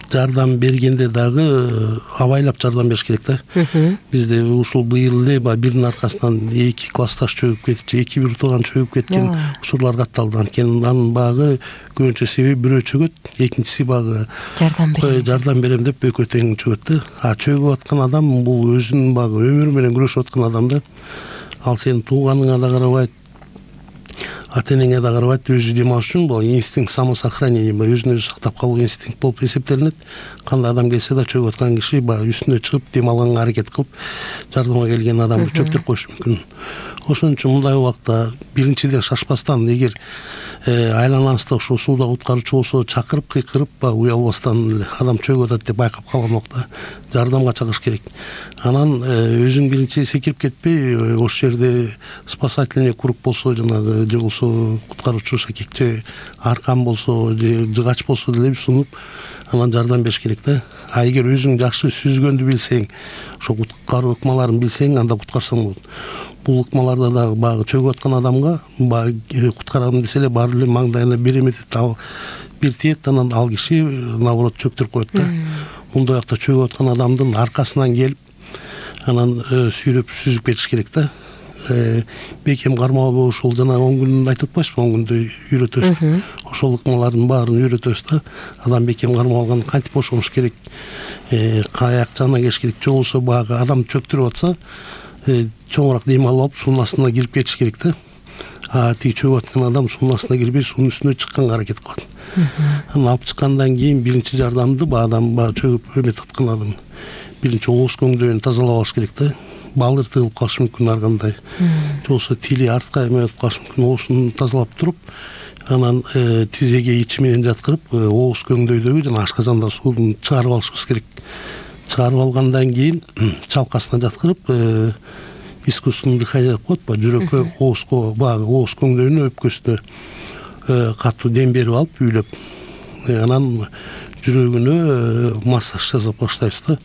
жардам бергенде дагы абайлап жардам бериш керек да. Бизде ушул быйыл эле биринин аркасынан эки классташ чөгүп кетип, же эки бир тууган чөгүп кеткен учурлар катталды. Анткени анын багы көбүнчө себеби бирөө чөгөт, экинчиси багы жардам берем жардам берем деп экөө тең чөгөт да. А чөгүп аткан адам бул өзүнүн багы өмүрү менен күрөшүп аткан адам да. Ал сенин тууганыңа да карабайт, ата-энеңе да карабайт, өзү дем алыш үчүн бул инстинкт самосохранения, өзүн өзү сактап калуу инстинкт болуп эсептелинет. Кандай адам келсе да чөгүп аткан киши баягы үстүнө чыгып дем алганга аракет кылып, жардамга келген адамды чөктүрүп коюшу мүмкүн. Ошон үчүн мындай убакта биринчиден шашпастан, эгер айланаңызда ошо сууда куткаруучу болсо чакырып, кыйкырып, баягы уялбастан эле адам чөгүп атат деп байкап калган убакта жардамга чакырыш керек. Анан өзүң биринчи секирип кетпей, ошол жерде спасательный круг болсо, жанагы же болсо куткаруучу шакек же аркан болсо, же жыгач болсо деле сунуп, анан жардам бериш керек да. А эгер өзүң жакшы сүзгөндү билсең, ошо куткаруу ыкмаларын билсең, анда куткарсаң болот. Бул ыкмаларда дагы баягы чөгүп аткан адамга баягы куткарам десе эле баары эле маңдайына бир эметет, ал бир тиет, анан ал киши наоборот чөктүрүп коет да. Мындай убакта чөгүп аткан адамдын аркасынан келип, анан сүйрөп сүзүп кетиш керек да. Бекем кармалбоо, ошол жана он күн айтып атпайсызбы, он күндө үйрөтөбүз. Ошол ыкмалардын баарын үйрөтөбүз да. Адам бекем кармалган кантип бошоnuш керек, каяк жагына келиш керек. Же болбосо баягы адам чөктүрүп атса, чоңураак дем алып алып суунун астына кирип кетиш керек да. А тиги чөгүп аткан адам суунун астына кирбей, суунун үстүнө чыкканга аракет кылат. Анан алып чыккандан кийин биринчи жардамды баягы адам баягы чөгүп эметип аткан адам биринчи ооз көңдөйүн тазалап алыш керек да. Балдыр тыгылып калышы мүмкүн ар кандай. Же болбосо тили артка эметип калышы мүмкүн. Оозун тазалап туруп, анан тизеге ичи менен жаткырып, ооз көңдөйдөгү жана ашказандагы сууну чыгарып алышыбыз керек. Чыгарып алгандан кийин чалкасына жаткырып, искусственный дыхание деп коет, баягы жүрөккө, оозго, баягы ооз көңдөйүнө, өпкөсүнө катуу дем берип алып, үйлөп, анан жүрөгүнө массаж жасап баштайбыз да.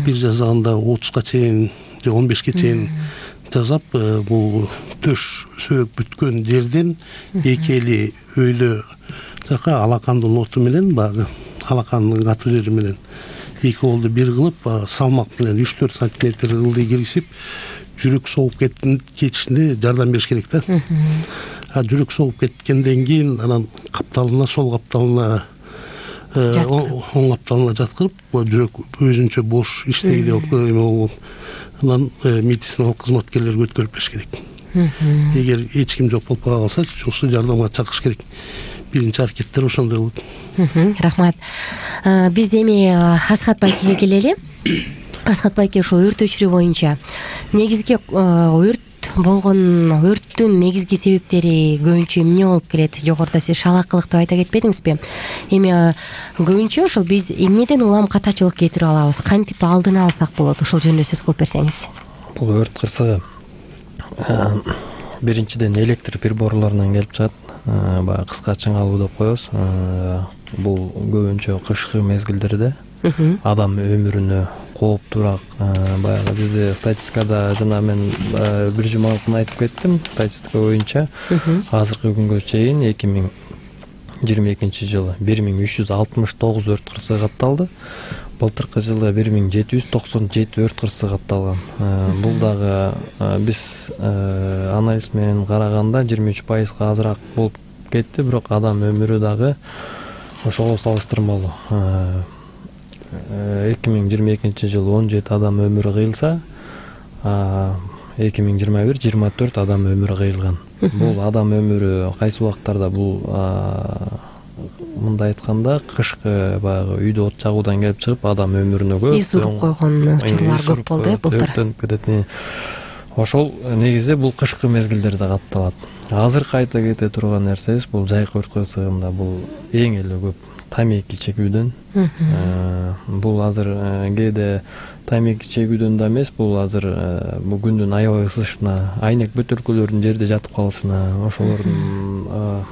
Бир жасаганда отузга чейин же он бешке чейин жасап, бул төш сөөк бүткөн жерден эки эли өйдө жака алакандын оту менен, баягы алакандын катуу жери менен эки колду бир кылып, салмак менен үч төрт сантиметр ылдый киргизип, жүрөк согуп кетишине жардам бериш керек да. А жүрөк согуп кеткенден кийин анан капталына, сол капталына, оң капталына жаткырып, жүрөк өзүнчө бош иштегиле болгон, анан медициналык кызматкерлерге өткөрүп бериш керек. Эгер эч ким жок болуп калса, ошо жардамга чакырыш керек. Биринчи аракеттер ошондой болот. Рахмат. Биз эми Асхат байкеге келели. Асхат байке, ошо өрт өчүрүү боюнча негизги өрт болгон өрттүн негизги себептери көбүнчө эмне болуп келет? Жогоруда сиз шалаакылык деп айта кетпедиңизби? Эми көбүнчө ошол биз эмнеден улам катачылык кетирип алабыз? Кантип алдын алсак болот? Ошол жөнүндө сөз кылып берсеңиз. Бул өрт кырсыгы биринчиден электр приборлорунан келип чыгат. Баягы кыска чыңалуу деп коебуз. Бул көбүнчө кышкы мезгилдерде адам өмүрүнө кооптуураак. Баягы бизде статистикада жана мен бир жума мурун айтып кеттим, статистика боюнча азыркы күнгө чейин эки миң жыйырма экинчи жылы бир миң үч жүз алтымыш тогуз өрт кырсыгы катталды. Былтыркы жылы бир миң жети жүз токсон жети өрт кырсыгы катталган. Бул дагы биз анализ менен караганда жыйырма үч пайызга азыраак болуп кетти, бирок адам өмүрү дагы ошого салыштырмалуу. эки миң жыйырма экинчи жылы он жети адам өмүрү кыйылса, эки миң жыйырма бир жыйырма төрт адам өмүрү кыйылган. Бул адам өмүрү кайсы убактарда бул мындай айтканда кышкы баягы үйдө от жагуудан келип чыгып адам өмүрүнө көп из уруп койгон учурлар көп болду э былтыр. Өрттөнүп кетет. Ошол негизи бул кышкы мезгилдерде катталат. Азыркы айта кете турган нерсебиз бул жайкы өрт кырсыгында бул эң эле көп тамеки чегүүдөн. Бул азыр кээде тамеки чегүүдөн да эмес, бул азыр бул күндүн аябай ысышына, айнек бөтөлкөлөрдүн жерде жатып калышына, ошолордун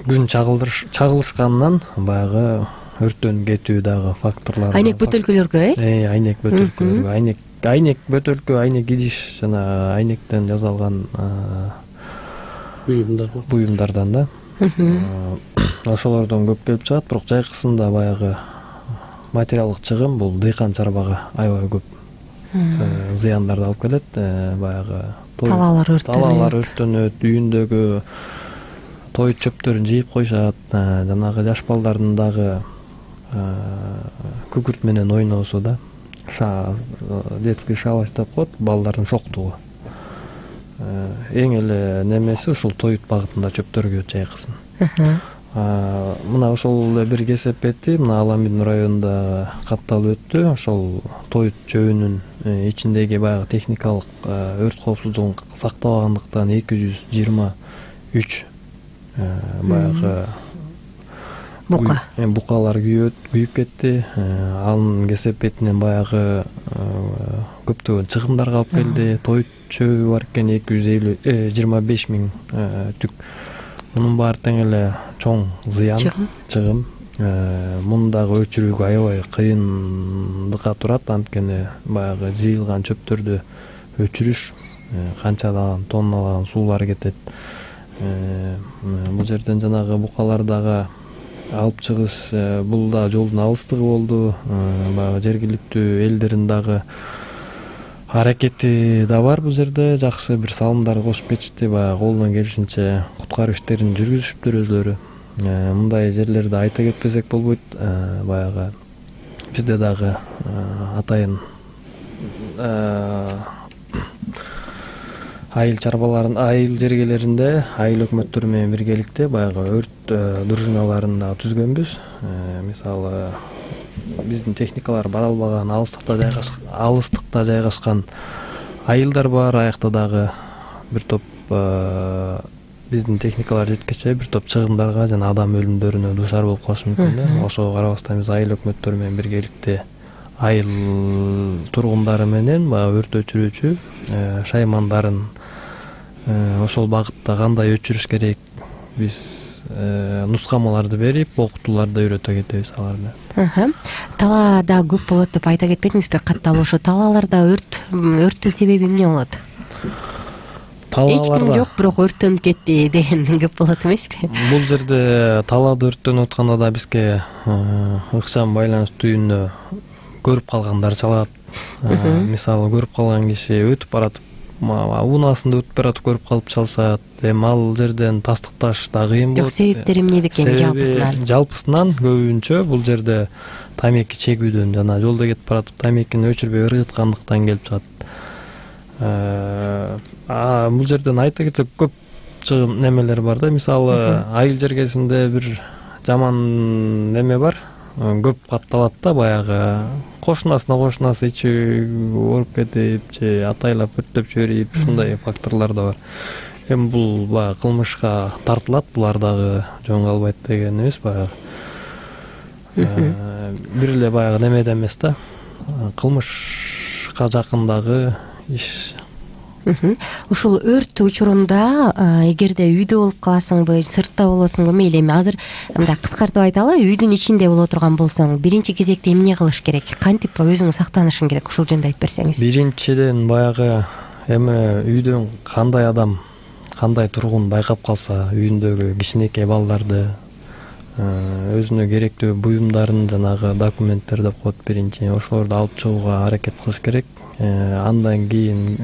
күн чагылышканынан баягы өрттөнүп кетүү дагы факторлор. Айнек бөтөлкөлөргө э? Э, айнек бөтөлкөлөргө, айнек айнек бөтөлкө, айнек идиш жана айнектен жасалган буюмдар буюмдардан да. Ошолордон көп келип чыгат, бирок жайкысында баягы материалдык чыгым бул дыйкан чарбага аябай көп зыяндарды алып келет. Баягы талаалар өрттөнөт. Талаалар өрттөнөт, үйүндөгү той чөптөрүн жыйып коюшат, жанагы жаш балдардын дагы күкүрт менен ойносу да. Детский шалость деп коет, балдардын шоктугу. Эң эле немеси ушул тоют багытында чөптөргө жайкысын. Мына ошол эле бир кесепети мына Аламидин районунда катталып өттү. Ошол тоют жөөнүн ичиндеги баягы техникалык өрт коопсуздугун сактабагандыктан эки жүз жыйырма үч баягы бука букалар күйүп кетти. Анын кесепетинен баягы көптөгөн чыгымдар калып келди. Тоют чөбү бар экен эки жүз элүү жыйырма беш миң түк. Мунун баары тең эле чоң зыян, чыгым. Муну дагы өчүрүүгө аябай кыйындыкка турат, анткени баягы жыйылган чөптөрдү өчүрүш канчадан тонналаган суулар кетет. Бул жерден жанагы букалар дагы алып чыгыш, бул да жолдун алыстыгы болду. Баягы жергиликтүү элдердин дагы аракети да бар бул жерде, жакшы бир салымдар кошуп кетишти, баягы колунан келишинче куткаруу иштерин жүргүзүшүптүр өзлөрү. Мындай жерлерди айта кетпесек болбойт. Баягы бизде дагы атайын айыл чарбаларын, айыл жергелеринде айыл өкмөттөрү менен биргеликте баягы өрт дружиналарын да түзгөнбүз. Мисалы биздин техникалар бара албаган алыстыкта жайгашкан алыстыкта жайгашкан айылдар бар. Аякта дагы бир топ биздин техникалар жеткече бир топ чыгымдарга жана адам өлүмдөрүнө дуушар болуп калышы мүмкүн. Ошого карабастан биз айыл өкмөттөрү менен биргеликте айыл тургундары менен баягы өрт өчүрүүчү шаймандарын ошол багытта кандай өчүрүш керек биз нускамаларды берип, окутууларды үйрөтө кетебиз аларга. Талаада көп болот деп айта кетпедиңизби? Катталуу ошо талааларда өрт өрттүн себеби эмне болот? Эч ким жок, бирок өрттөнүп кетти деген көп болот эмеспи? Бул жерде талаада өрттөнүп атканда да бизге ыкчам байланыш түйүнүнө көрүп калгандар чалат. Мисалы көрүп калган киши өтүп баратып, унаасында өтүп баратып көрүп калып чалышат. Эми ал жерден тастыкташ да кыйын болот. Жок, себептери эмне экен жалпысынан? Жалпысынан көбүнчө бул жерде тамеки чегүүдөн жана жолдо кетип баратып тамекини өчүрбөй ыргыткандыктан келип чыгат. Бул жерден айта кетсек көп чыгым немелер бар да. Мисалы айыл жергесинде бир жаман неме бар. Көп катталат да, баягы кошунасына кошунасы ичи ооруп кетип же атайлап өрттөп жиберип, ушундай факторлор да бар. Эми бул баягы кылмышка тартылат, булар дагы жөн калбайт деген эмес. Баягы бир эле баягы немеде эмес да, кылмышка жакындагы иш Ушул өрт учурунда эгерде үйдө болуп каласыңбы, сыртта болосуңбу, мейли, эми азыр мындай кыскартып айталы, үйдүн ичинде боло турган болсоң, биринчи кезекте эмне кылыш керек? Кантип өзүң сактанышың керек? Ушул жөнүндө айтып берсеңиз. Биринчиден баягы эми үйдөн кандай адам, кандай тургун байкап калса, үйүндөгү кичинекей балдарды, өзүнө керектүү буюмдарын, жанагы документтер деп коет биринчи, ошолорду алып чыгууга аракет кылыш керек. Андан кийин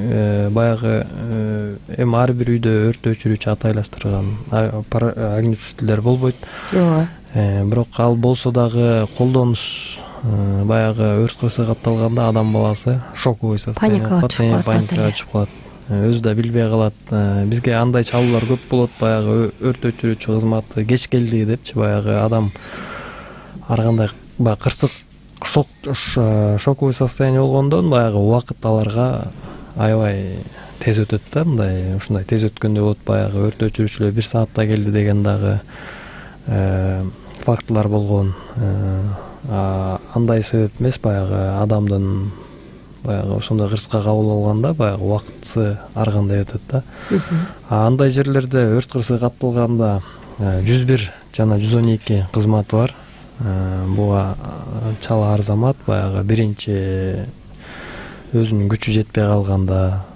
баягы эми ар бир үйдө өрт өчүрүүчү атайлаштырган огнетушителер болбойт. Ооба. Бирок ал болсо дагы колдонуш баягы өрт кырсыгы катталганда адам баласы шоковый состояние, паникага түшүп калат, паникага түшүп калат. Өзү да билбей калат. Бизге андай чалуулар көп болот, баягы өрт өчүрүүчү кызматы кеч келди депчи, баягы адам ар кандай баягы кырсык шоковый состояние болгондон баягы убакыт аларга аябай тез өтөт да, мындай ушундай тез өткөндөй болот. Баягы өрт өчүрүүчүлөр бир саатта келди деген дагы фактылар болгон. Андай себеп эмес, баягы адамдын баягы ошондой кырсыкка кабыл алганда баягы убакытысы ар кандай өтөт да. Андай жерлерде өрт кырсыгы катталганда жүз бир жана жүз он эки кызматы бар. Буга чала арзамат, баягы биринчи өзүнүн күчү жетпей калганда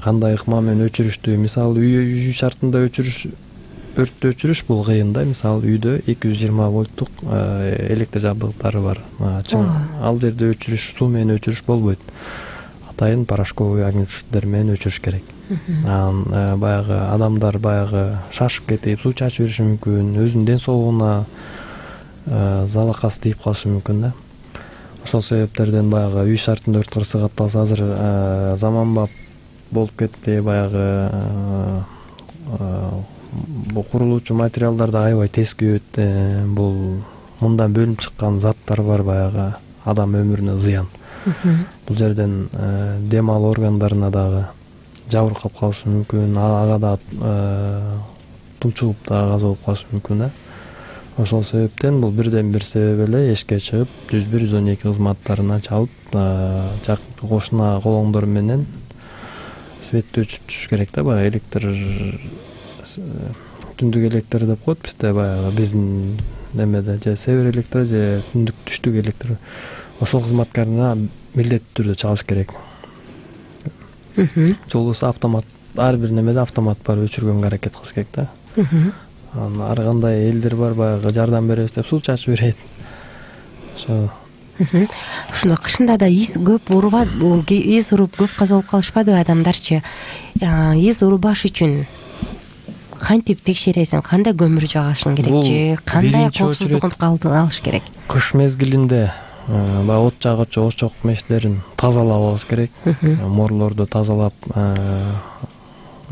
кандай ыкма менен өчүрүштү, мисалы үй шартында өчүрүш, өрттү өчүрүш бул кыйын да. Мисалы үйдө эки жүз жыйырма вольттук электр жабдыктары бар. Чын ал жерде өчүрүш, суу менен өчүрүш болбойт. Атайын порошковый огнетушителер менен өчүрүш керек. Анан баягы адамдар баягы шашып кетип суу чачып бериши мүмкүн, өзүнүн ден соолугуна залакасы тийип калышы мүмкүн да. Ошол себептерден баягы үй шартында өрт кырсыгы катталса, азыр заманбап болуп кетти. Баягы бул курулуучу материалдар да аябай тез күйөт. Бул мындан бөлүнүп чыккан заттар бар, баягы адам өмүрүнө зыян. Бул жерден дем алуу органдарына дагы жабыркап калышы мүмкүн, ага да тунчугуп дагы каза болуп калышы мүмкүн да. Ошол себептен бул бирден бир себеп эле эшикке чыгып жүз бир жүз он эки кызматтарына чалып, жакынкы кошуна колоңдор менен светти өчүрүш керек да. Баягы электр, түндүк электр деп коет бизде, баягы биздин немеде же север электр же түндүк түштүк электр. Ошол кызматкарына милдеттүү түрдө чалыш керек. Жолубузда автомат, ар бир немеде автомат бар, өчүргөнгө аракет кылыш керек да. Ар кандай элдер бар, баягы жардам беребиз деп суу чачып берет. Ошо ушунда кышында да из көп урубат, из уруп көп каза болуп калышпадыбы адамдарчы? Из урубаш үчүн кантип текшересиң, кандай көмүр жагышың керек же кандай коопсуздугун алыш керек? Кыш мезгилинде баягы от жагычу очок мештерин тазалап алыш керек. Морлорду тазалап,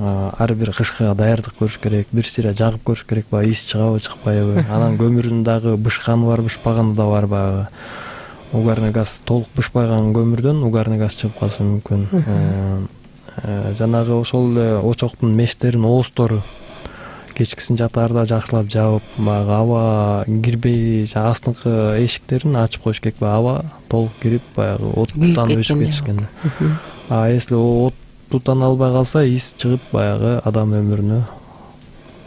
ар бир кышкыга даярдык көрүш керек. Бир сыйра жагып көрүш керек, баягы из чыгабы, чыкпайбы. Анан көмүрдүн дагы бышканы бар, бышпаганы да бар. Баягы угарный газ, толук бышпаган көмүрдөн угарный газ чыгып калышы мүмкүн. Жанагы ошол эле очоктун мештерин, оозтору кечкисин жатаарда жакшылап жаап, баягы аба кирбей, астыңкы эшиктерин ачып коюш керек. Аба толук кирип, баягы от тутанып өчүп кетишкен. А если от тутана албай калса, из чыгып, баягы адам өмүрүнө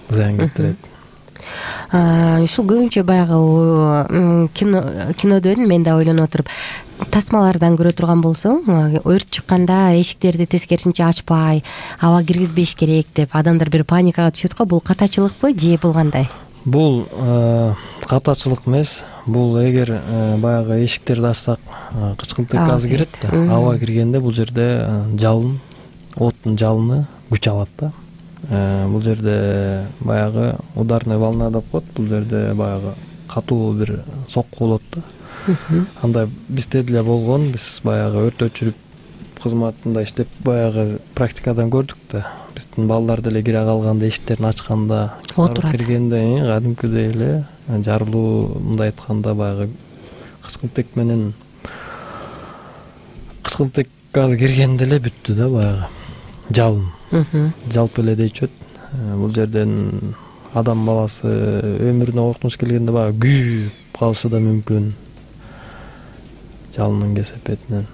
зыян келтирет. Ушул көбүнчө баягы кинодон мен да ойлонуп отуруп, тасмалардан көрө турган болсоң, өрт чыкканда эшиктерди тескерисинче ачпай, аба киргизбеш керек деп адамдар бир паникага түшөт го. Бул катачылыкпы же бул кандай? Бул катачылык эмес. Бул эгер баягы эшиктерди ачсак, кычкылтык газ кирет да. Аба киргенде бул жерде жалын, оттун жалыны күч алат да. Бул жерде баягы ударный волна деп коет. Бул жерде баягы катуу бир сокку болот да. Андай бизде деле болгон. Биз баягы өрт өчүрүп кызматында иштеп баягы практикадан көрдүк да. Биздин балдар деле кире калганда, эшиктерин ачканда, кыздар киргенде кадимкидей эле жарылуу, мындай айтканда баягы кычкылтык менен кычкылтык газ киргенде эле бүттү да, баягы жалын жалп эле дейчү. Бул жерден адам баласы өмүрүнө коркунуч келгенде баягы күйүп калышы да мүмкүн жалындын кесепетинен.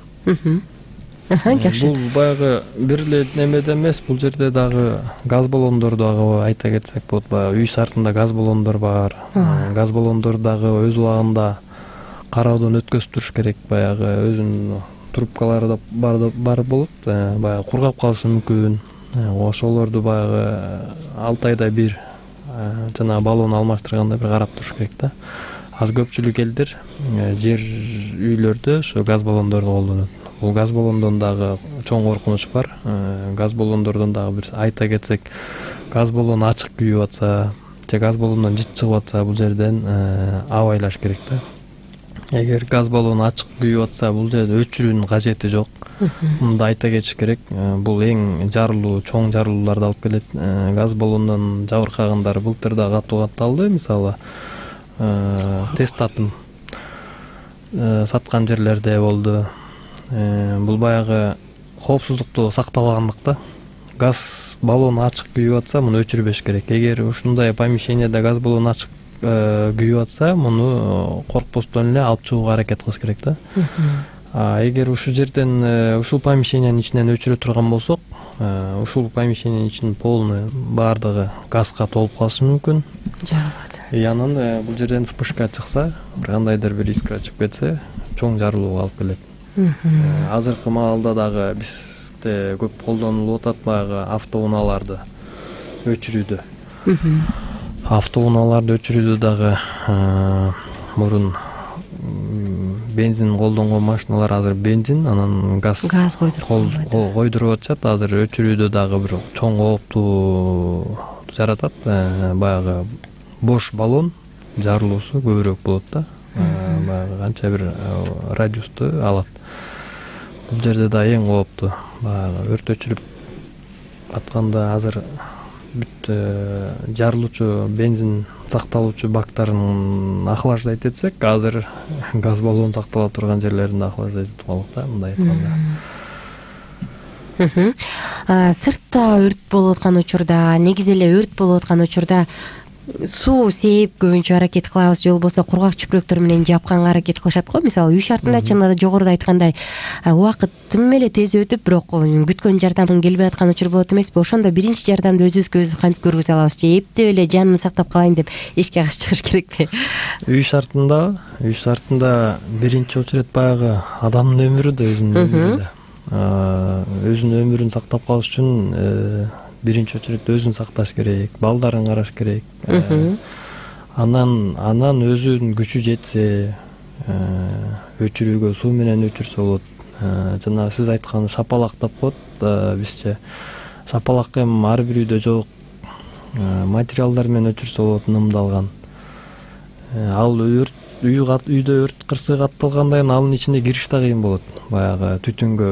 Жакшы. Бул баягы бир эле немеде эмес, бул жерде дагы газ баллондор дагы айта кетсек болот. Баягы үй шартында газ баллондор бар. Газ баллондор дагы өз убагында кароодон өткөзүп туруш керек. Баягы өзүнүн трубкалары да бар бар болот. Баягы кургап калышы мүмкүн. Ошолорду баягы алты айда бир жана баллон алмаштырганда бир карап туруш керек да. Аз көпчүлүк элдер жер үйлөрдө ошо газ баллондорду колдонот. Бул газ баллондон дагы чоң коркунуч бар. Газ баллондордон дагы бир айта кетсек, газ баллон ачык күйүп атса же газ баллондон жыт чыгып атса, бул жерден абайлаш керек да. Эгер газ баллон ачык күйүп атса, бул жерде өчүрүүнүн кажети жок. Мында айта кетиш керек, бул эң жарылуу, чоң жарылууларды алып келет. Газ баллондон жабыркагандар былтыр да катуу катталды. Мисалы, тест атым саткан жерлерде болду. Бул баягы коопсуздукту сактабагандык да. Газ баллону ачык күйүп атса, муну өчүрбөш керек. Эгер ушундай помещениеде газ баллону ачык күйүп атса, муну коркпостон эле алып чыгууга аракет кылыш керек да. А эгер ушул жерден, ушул помещениянын ичинен өчүрө турган болсок, ушул помещениянын ичинин полный баардыгы газга толуп калышы мүмкүн. Жарылат. И анан бул жерден вспышка чыкса, бир кандайдыр бир искра чыгып кетсе, чоң жарылууга алып келет. Азыркы маалда дагы бизде көп колдонулуп атат баягы автоунааларды өчүрүүдө. Автоунааларды өчүрүүдө дагы мурун бензин колдонгон машиналар азыр бензин, анан газ газ койдуруп атышат. Азыр өчүрүүдө дагы бир чоң кооптуу жаратат. Баягы бош баллон жарылуусу көбүрөөк болот да. Баягы канча бир радиусту алат. Бул жерде да эң кооптуу. Баягы өрт өчүрүп атканда азыр бүт жарылуучу бензин сакталуучу бактарын охлаждать этсек, азыр газ баллон сактала турган жерлерин охлаждать этип калдык да, мындай айтканда. Сыртта өрт болуп аткан учурда, негизи эле өрт болуп аткан учурда суу сээп көбүнчө аракет кылабыз, же болбосо кургак чүпүрөктөр менен жапканга аракет кылышат го. Мисалы үй шартында чынында да жогоруда айткандай убакыт тым эле тез өтүп, бирок күткөн жардамың келбей аткан учур болот эмеспи? Ошондо биринчи жардамды өзүбүзгө өзүбүз кантип көргүзө алабыз? Же эптеп эле жанын сактап калайын деп эшикке качып чыгыш керекпи? Үй шартында, үй шартында биринчи очередь баягы адамдын өмүрү да өзүнүн өмүрү да. Өзүнүн өмүрүн сактап калыш үчүн биринчи очередь өзүн сакташ керек, балдарын караш керек. Анан анан өзүнүн күчү жетсе, өчүрүүгө суу менен өчүрсө болот. Жана сиз айткан шапалак деп коет бизче. Шапалак эми ар бир үйдө жок. Материалдар менен өчүрсө болот, нымдалган. Ал өрт үйдө өрт кырсыгы катталгандан кийин анын ичине кириш да кыйын болот. Баягы түтүнгө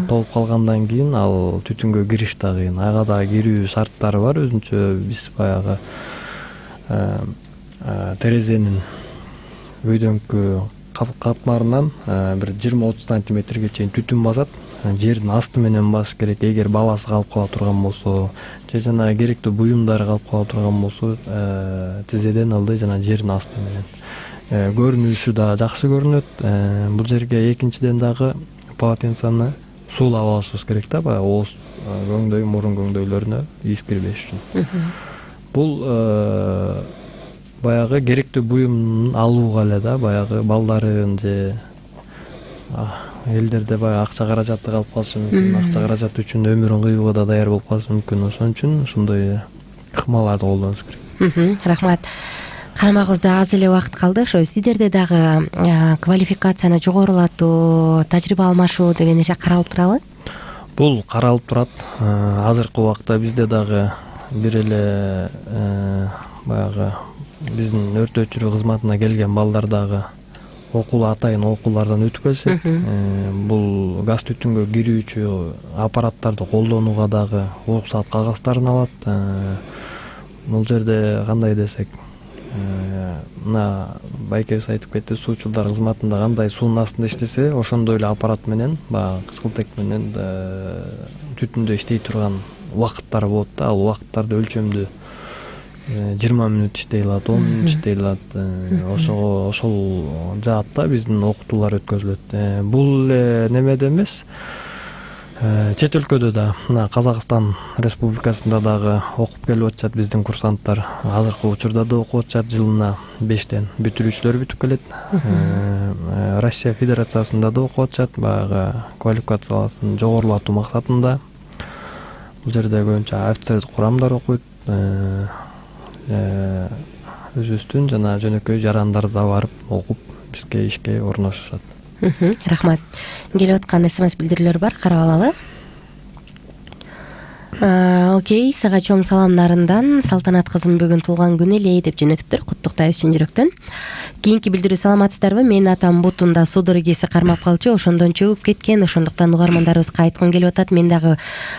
толуп калгандан кийин ал түтүнгө кириш да кыйын. Ага да кирүү шарттары бар өзүнчө. Биз баягы терезенин өйдөңкү катмарынан бир жыйырма отуз сантиметрге чейин түтүн басат. Жердин асты менен басыш керек. Эгер баласы калып кала турган болсо, же жана керектүү буюмдары калып кала турган болсо, тизеден ылдый жана жердин асты менен. Көрүнүшү да жакшы көрүнөт. Бул жерге экинчиден дагы полотенцаны суулап алышыбыз керек да, баягы ооз көңдөй, мурун көңдөйлөрүнө из кирбеш үчүн. Бул баягы керектүү буюмун алууга эле да, баягы балдарын же элдерде баягы акча каражаты калып калышы мүмкүн. Акча каражаты үчүн өмүрүн кыюуга да даяр болуп калышы мүмкүн. Ошон үчүн ушундай ыкмаларды колдонуш керек. Рахмат. Карамагыбызда аз эле убакыт калды. Ошо сиздерде дагы квалификацияны жогорулатуу, тажрыйба алмашуу деген нерсе каралып турабы? Бул каралып турат. Азыркы убакта бизде дагы бир эле баягы биздин өрт өчүрүү кызматына келген балдар дагы окуу атайын окуулардан өтүп келишет. Бул газ түтүнгө кирүүчү аппараттарды колдонууга дагы уруксат кагаздарын алат. Бул жерде кандай десек, мына байкебиз айтып кетти, суучулдар кызматында кандай суунун астында иштесе, ошондой эле аппарат менен, баягы кыскылтек менен түтүндө иштей турган убакыттар болот да. Ал убакыттарды өлчөмдүү жыйырма мүнөт иштей алат, он мүнөт иштей алат. Ошого ошол жаатта биздин окутуулар өткөзүлөт. Бул эле немеде эмес, чет өлкөдө да, мына Казакстан Республикасында дагы окуп келип атышат биздин курсанттар. Азыркы учурда да окуп атышат, жылына бештен бүтүрүүчүлөр бүтүп келет. Россия Федерациясында да окуп атышат, баягы квалификацияласын жогорулатуу максатында. Бул жерде көбүнчө офицерлик курамдар окуйт. Өзүбүздүн жана жөнөкөй жарандар да барып окуп бизге ишке орношушат. Рахмат. Келип аткан смс билдирүүлөр бар, карап алалы. Окей, сага чоң салам Нарындан. Салтанат кызым бүгүн туулган күнү эле деп жөнөтүптүр. Куттуктайбыз чын жүрөктөн. Кийинки билдирүү: саламатсыздарбы? Менин атам бутунда судыр игеси кармап калчу, ошондон чөгүп кеткен. Ошондуктан угармандарыбызга айткым келип атат. Мен дагы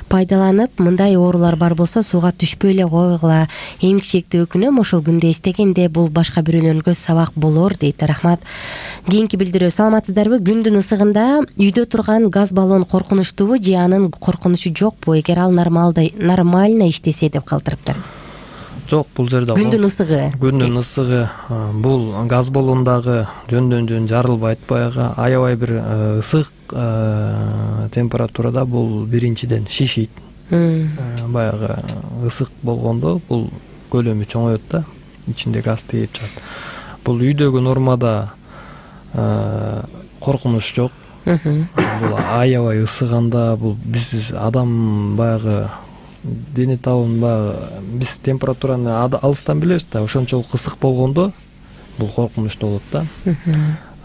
пайдаланып, мындай оорулар бар болсо сууга түшпөй эле койгула. Эмгичекти өкүнөм, ошол күндө эстегенде бул башка бирөөлөргө сабак болор дейт. Рахмат. Кийинки билдирүү: саламатсыздарбы? Күндүн ысыгында үйдө турган газ баллон коркунучтубу же анын коркунучу жокпу? Эгер ал нормал нормально иштесе деп калтырыптыр. Жок, бул жерде күндүн ысыгы. Күндүн ысыгы бул газ баллондагы жөндөн жөн жарылбайт. Баягы аябай бир ысык температурада бул биринчиден шишийт. Баягы ысык болгондо бул көлөмү чоңойот да, ичинде газ тийип чыгат. Бул үйдөгү нормада коркунуч жок. Бул аябай ысыганда бул биз адам баягы дене табын баягы биз температураны алыстан билебиз да, ошончолук ысык болгондо бул коркунучтуу болот да.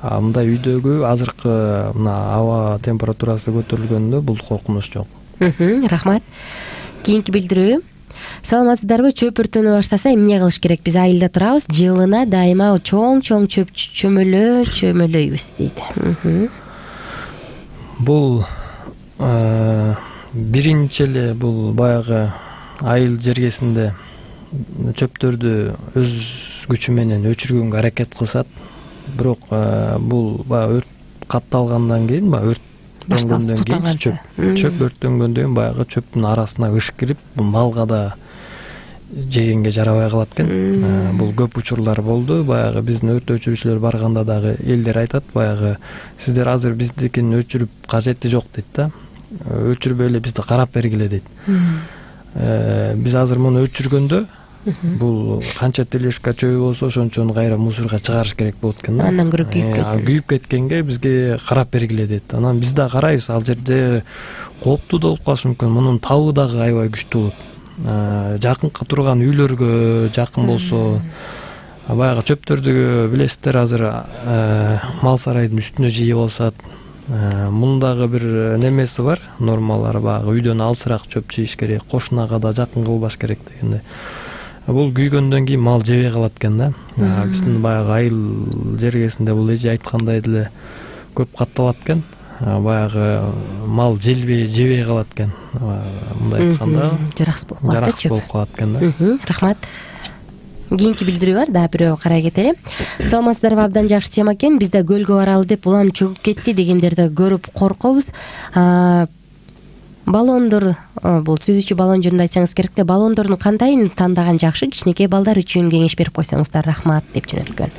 А мындай үйдөгү азыркы мына аба температурасы көтөрүлгөндө бул коркунуч жок. Рахмат. Кийинки билдирүү: саламатсыздарбы? Чөп өртөнө баштаса эмне кылыш керек? Биз айылда турабыз, жылына дайыма чоң-чоң чөп чөмөлө чөмөлөйбүз дейт. Бул биринчи эле бул баягы айыл жергесинде чөптөрдү өз күчү менен өчүргөнгө аракет кылышат. Бирок бул баягы өрт катталгандан кийин, баягы өрт башталгандан кийин чөп чөп өрттөнгөндөн кийин баягы чөптүн арасына ыш кирип, малга да жегенге жарабай калат экен. Бул көп учурлар болду. Баягы биздин өрт өчүрүүчүлөр барганда дагы элдер айтат, баягы сиздер азыр биздикин өчүрүп кажети жок дейт да. Өчүрбөй эле бизди карап бергиле дейт. Биз азыр муну өчүргөндө бул канча тележка чөбү болсо ошончону кайра мусорго чыгарыш керек болот экен да. Андан көрө күйүп кетсин. Күйүп кеткенге бизге карап бергиле дейт. Анан биз да карайбыз, ал жерде кооптуу да болуп калышы мүмкүн. Мунун табы дагы аябай күчтүү болот. Жакынка турган үйлөргө жакын болсо, баягы чөптөрдү билесиздер, азыр мал сарайдын үстүнө жиеп алышат. Мундагы бир немеси бар, нормалары баягы үйдөн алысыраак чөп жийиш керек, кошунага да жакын кылбаш керек дегенде. Бул күйгөндөн кийин мал жебей калат экен да. Биздин баягы айыл жергесинде бул эже айткандай деле көп катталат экен. Баягы мал желбей жебей калат экен. Мындай айтканда жараксыз болуп калат. Жараксыз болуп калат экен да. Рахмат. Кийинки билдирүү бар, дагы бирөө карай кетели. Саламатсыздарбы? Абдан жакшы тема экен. Биз да көлгө баралы деп улам чөгүп кетти дегендерди көрүп коркобуз. Баллондор, бул сүзүүчү баллон жөнүндө айтсаңыз керек да, баллондордун кандайын тандаган жакшы? Кичинекей балдар үчүн кеңеш берип койсоңуздар, рахмат деп жөнөткөн.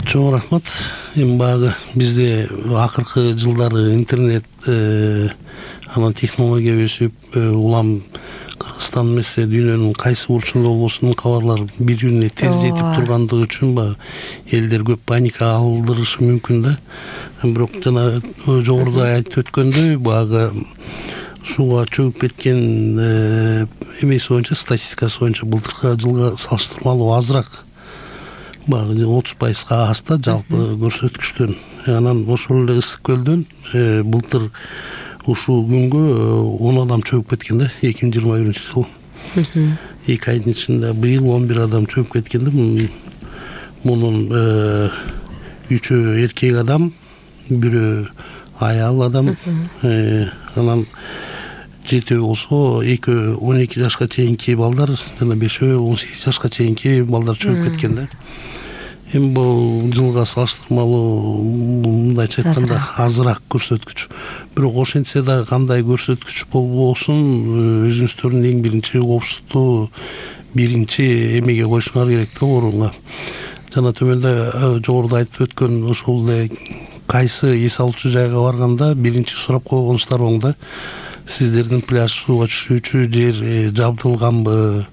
Чоң рахмат. Эми баягы бизде акыркы жылдары интернет анан технология өсүп, улам Кыргызстан эмес, дүйнөнүн кайсы бурчунда болбосун кабарлар бири-бирине тез жетип тургандыгы үчүн баягы элдер көп паника алдырышы мүмкүн да. Бирок жана жогоруда айтып өткөндөй, баягы сууга чөгүп кеткен эмеси боюнча, статистикасы боюнча былтыркы жылга салыштырмалуу азыраак. Баягы отуз пайызга аз да жалпы көрсөткүчтөн. Анан ошол эле ысык көлдөн былтыр ушул күнгө он адам чөгүп кеткен да, эки миң жыйырма биринчи жыл. эки айдын ичинде быйыл он бир адам чөгүп кеткен да. Мунун үчөө эркек адам, бирөө аял адам. Анан жетөө болсо экөө он эки жашка чейинки балдар, жана бешөө он сегиз жашка чейинки балдар чөгүп кеткен да. Эми бул жылга салыштырмалуу мындайча айтканда азыраак көрсөткүч. Бирок ошентсе дагы кандай көрсөткүч болбосун, өзүңүздөрдүн эң биринчи коопсуздукту биринчи эмеге коюшуңар керек да, орунга. Жана төмөндө жогоруда айтып өткөн ошол эле кайсы эс алуучу жайга барганда биринчи сурап койгонуңуздар оң да. Сиздердин пляж сууга түшүүчү жер жабдылганбы?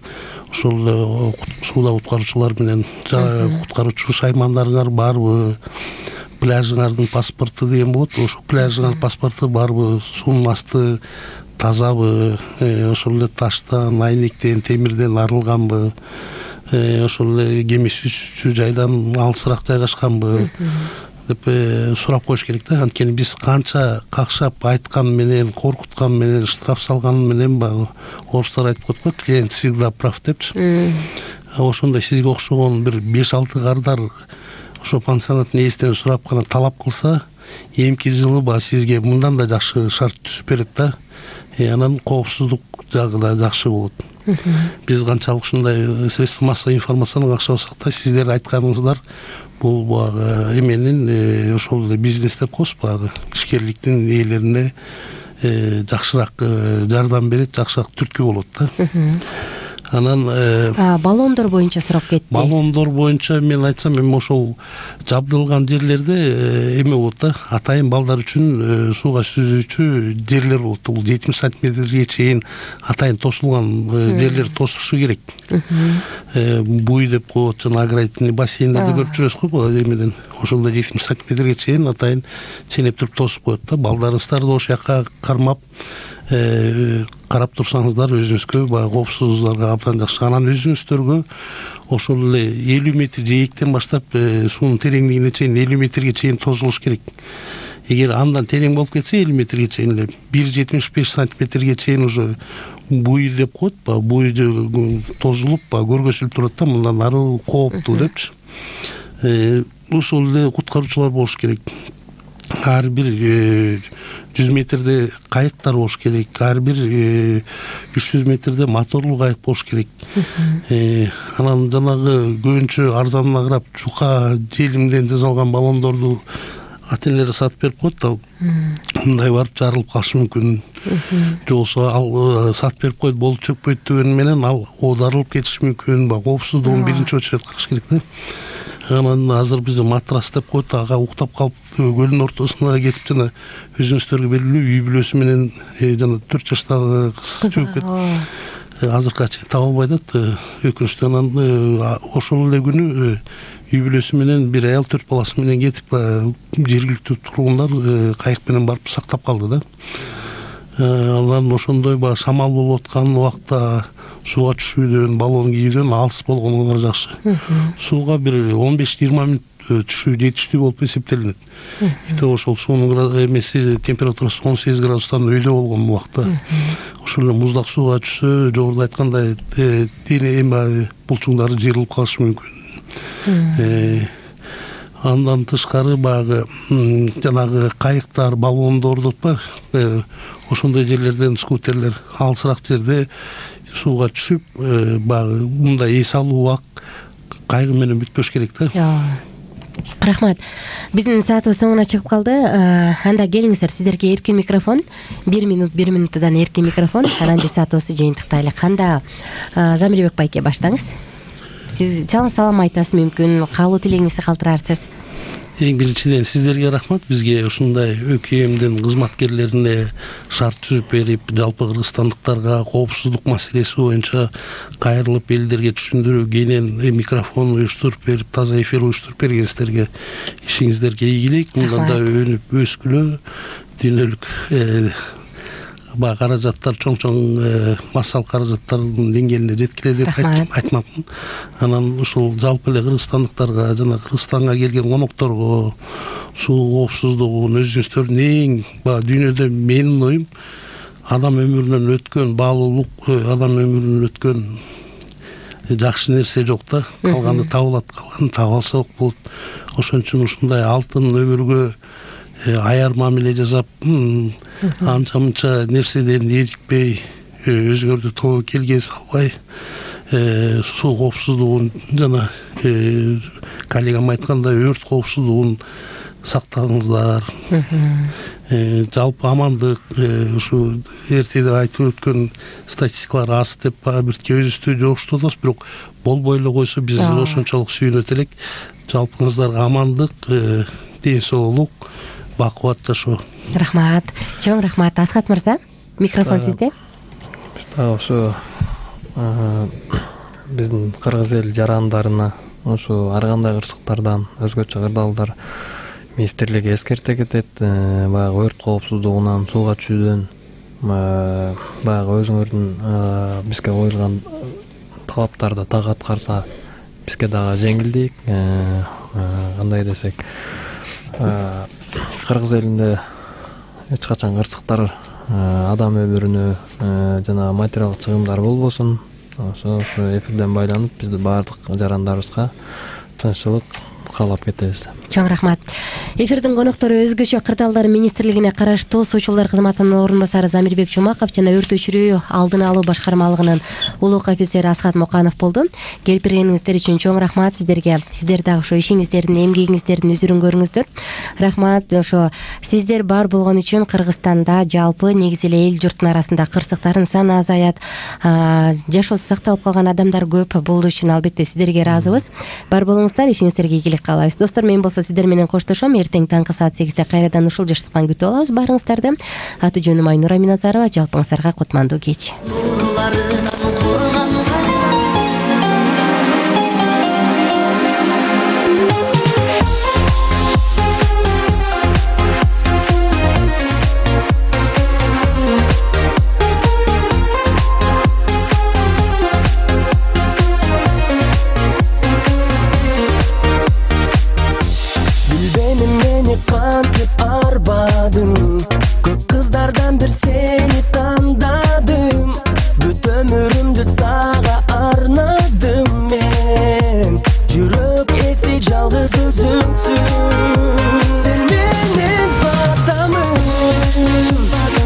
Ошол сууда куткаруучулар менен куткаруучу шаймандарыңар барбы? Пляжыңардын паспорту деген болот. Ошол пляжыңар паспорту барбы? Суунун асты тазабы? Ошол эле таштан, айнектен, темирден арылганбы? Ошол эле кеме сүзүүчү жайдан алысыраак жайгашканбы деп сурап коюш керек да. Анткени биз канча какшап айткан менен, коркуткан менен, штраф салган менен баягы орустар айтып коет го, клиент всегда прав депчи. Ошондой сизге окшогон бир беш алты кардар ошо пансионаттын ээсинен сурап гана талап кылса, эмки жылы баягы сизге мындан да жакшы шарт түзүп берет да. Анан коопсуздук жагы да жакшы болот. Биз канчалык ушундай средства массовой информацияны какшабасак да, сиздер айтканыңыздар бул баягы эменин ошол эле бизнес деп коебуз, баягы ишкерликтин ээлерине жакшыраак жардам берет, жакшыраак түрткү болот да. Анан баллондор боюнча сурап кетти. Баллондор боюнча мен айтсам, эми ошол жабдылган жерлерде эме болот да, атайын балдар үчүн сууга сүзүүчү жерлер болот. Бул жетимиш сантиметрге чейин атайын тосулган жерлер тосушу керек. Буй деп коет, жана аграрный бассейндерди көрүп жүрөсүз го, эмеден ошондо жетимиш сантиметрге чейин атайын ченеп туруп тосуп коет да. Балдарыңыздарды ошол жака кармап карап турсаңыздар өзүңүзгө баягы коопсуздугуңарга абдан жакшы. Анан өзүңүздөргө ошол эле элүү метр жээктен баштап суунун тереңдигине чейин элүү метрге чейин тозулуш керек. Эгер андан терең болуп кетсе элүү метрге чейин эле бир жетимиш беш сантиметрге чейин уже буй деп коет, баягы буй тозулуп, баягы көргөзүлүп турат да, мындан ары кооптуу депчи. Ошол эле куткаруучулар болуш керек. Ар бир жүз метрде кайыктар болуш керек, ар бир үч жүз метрде моторлуу кайык болуш керек. Анан жанагы көбүнчө арзанына карап жука желимден жасалган баллондорду ата энелер сатып берип коет да. Мындай барып жарылып калышы мүмкүн. Же болбосо ал сатып берип коет, болуп чөкпөйт деген менен ал оодарылып кетиши мүмкүн. Баягы коопсуздугун биринчи очередь караш керек да. Анан азыр биз матрас деп коет, ага уктап калып көлдүн ортосуна кетип жана өзүңүздөргө белгилүү үй бүлөсү менен жана төрт жаштагы кыз чөгүп кетти. Азыркыга чейин таба албай атат. Өкүнүчтүү. Анан ошол эле күнү үй бүлөсү менен бир аял төрт баласы менен кетип, жергиликтүү тургундар кайык менен барып сактап калды да. Анан ошондой баягы шамал болуп аткан убакта сууга түшүүдөн, баллон кийүүдөн алыс болгонуңар жакшы. Сууга бир он беш жыйырма мүнөт түшүү жетиштүү болуп эсептелинет. Ите ошол суунун эмеси температурасы он сегиз градустан өйдө болгон убакта ошол эле муздак сууга түшсө, жогоруда айткандай дене эме булчуңдары жыйрылып калышы мүмкүн. Андан тышкары баягы жанагы кайыктар, баллондор деп па, ошондой жерлерден скутерлер алысыраак жерде сууга түшүп, баягы мындай эс алуу убак кайгы менен бүтпөш керек да. Рахмат. Биздин саатыбыз соңуна чыгып калды. Анда келиңиздер, сиздерге эркин микрофон. бир минут, бир минуттан эркин микрофон. Анан биз саатыбызды жыйынтыктайлык. Анда Замирбек байке баштаңыз. Сиз чалым салам айтасыз мүмкүн, каалоо тилегиңизди калтырарсыз. Эң биринчиден сиздерге рахмат. Бизге ушундай ӨКМдин кызматкерлерине шарт түзүп берип, жалпы кыргызстандыктарга коопсуздук маселеси боюнча кайрылып элдерге түшүндүрүү, кенен микрофон уюштуруп берип, таза эфир уюштуруп бергенсиздерге ишиңиздерге ийгилик. Мындан да өнүп өскүлө, дүйнөлүк баягы каражаттар, чоң-чоң массалык каражаттардын деңгээлине жеткиле деп айтмакмын. Анан ушул жалпы эле кыргызстандыктарга жана Кыргызстанга келген конокторго суу коопсуздугун өзүңүздөрдүн эң баягы дүйнөдө менин оюм адам өмүрүнөн өткөн баалуулук, адам өмүрүнөн өткөн жакшы нерсе жок да. Калганы табылат, калганы таба алса ок болот. Ошон үчүн ушундай алтын өмүргө аяр мамиле жасап, анча-мынча нерседен эрикпей, өзүңөрдү тобокелге салбай, суу коопсуздугун жана коллегам айткандай өрт коопсуздугун сактаңыздар. Жалпы амандык, ушу эртеде айтып өткөн статистикалар аз деп бир көзүстү жогуштуп атабыз, бирок болбой эле койсо биз ошончолук сүйүнөт элек. Жалпыңыздарга амандык, ден соолук, бакубат жашоо. Рахмат, чоң рахмат. Асхат мырза, микрофон сизде. Биз дагы ошо биздин кыргыз эл жарандарына ошо ар кандай кырсыктардан, өзгөчө кырдаалдар министрлиги эскерте кетет. Баягы өрт коопсуздугунан, сууга түшүүдөн, баягы өзүңөрдүн бизге коюлган талаптарды так аткарса бизге дагы жеңилдик. Кандай десек, кыргыз элинде эч качан кырсыктар, адам өмүрүнө жана материалдык чыгымдар болбосун. Ошо ошо эфирден байланып бизди баардык жарандарыбызга тынччылык каалап кетебиз. Чоң рахмат. Эфирдин коноктору өзгөчө кырдаалдар министрлигине караштуу суучулдар кызматынын орун басары Замирбек Жумаков жана өрт өчүрүү алдын алуу башкармалыгынын улук офицери Асхат Муканов болду. Келип бергениңиздер үчүн чоң рахмат сиздерге. Сиздер дагы ошо ишиңиздердин, эмгегиңиздердин үзүрүн көрүңүздөр. Рахмат. Ошо сиздер бар болгон үчүн Кыргызстанда жалпы негизи эле эл журттун арасында кырсыктардын саны азаят, жашоосу сакталып калган адамдар көп. Бул үчүн албетте сиздерге ыраазыбыз. Бар болуңуздар, ишиңиздерге ийгилик каалайбыз. Достор, мен болсо сиздер менен коштошом. Эртең таңкы саат сегизде кайрадан ушул жаштыктан күтүп алабыз баарыңыздарды. Аты жөнүм Айнура Миназарова. Жалпыңыздарга кутмандуу кеч.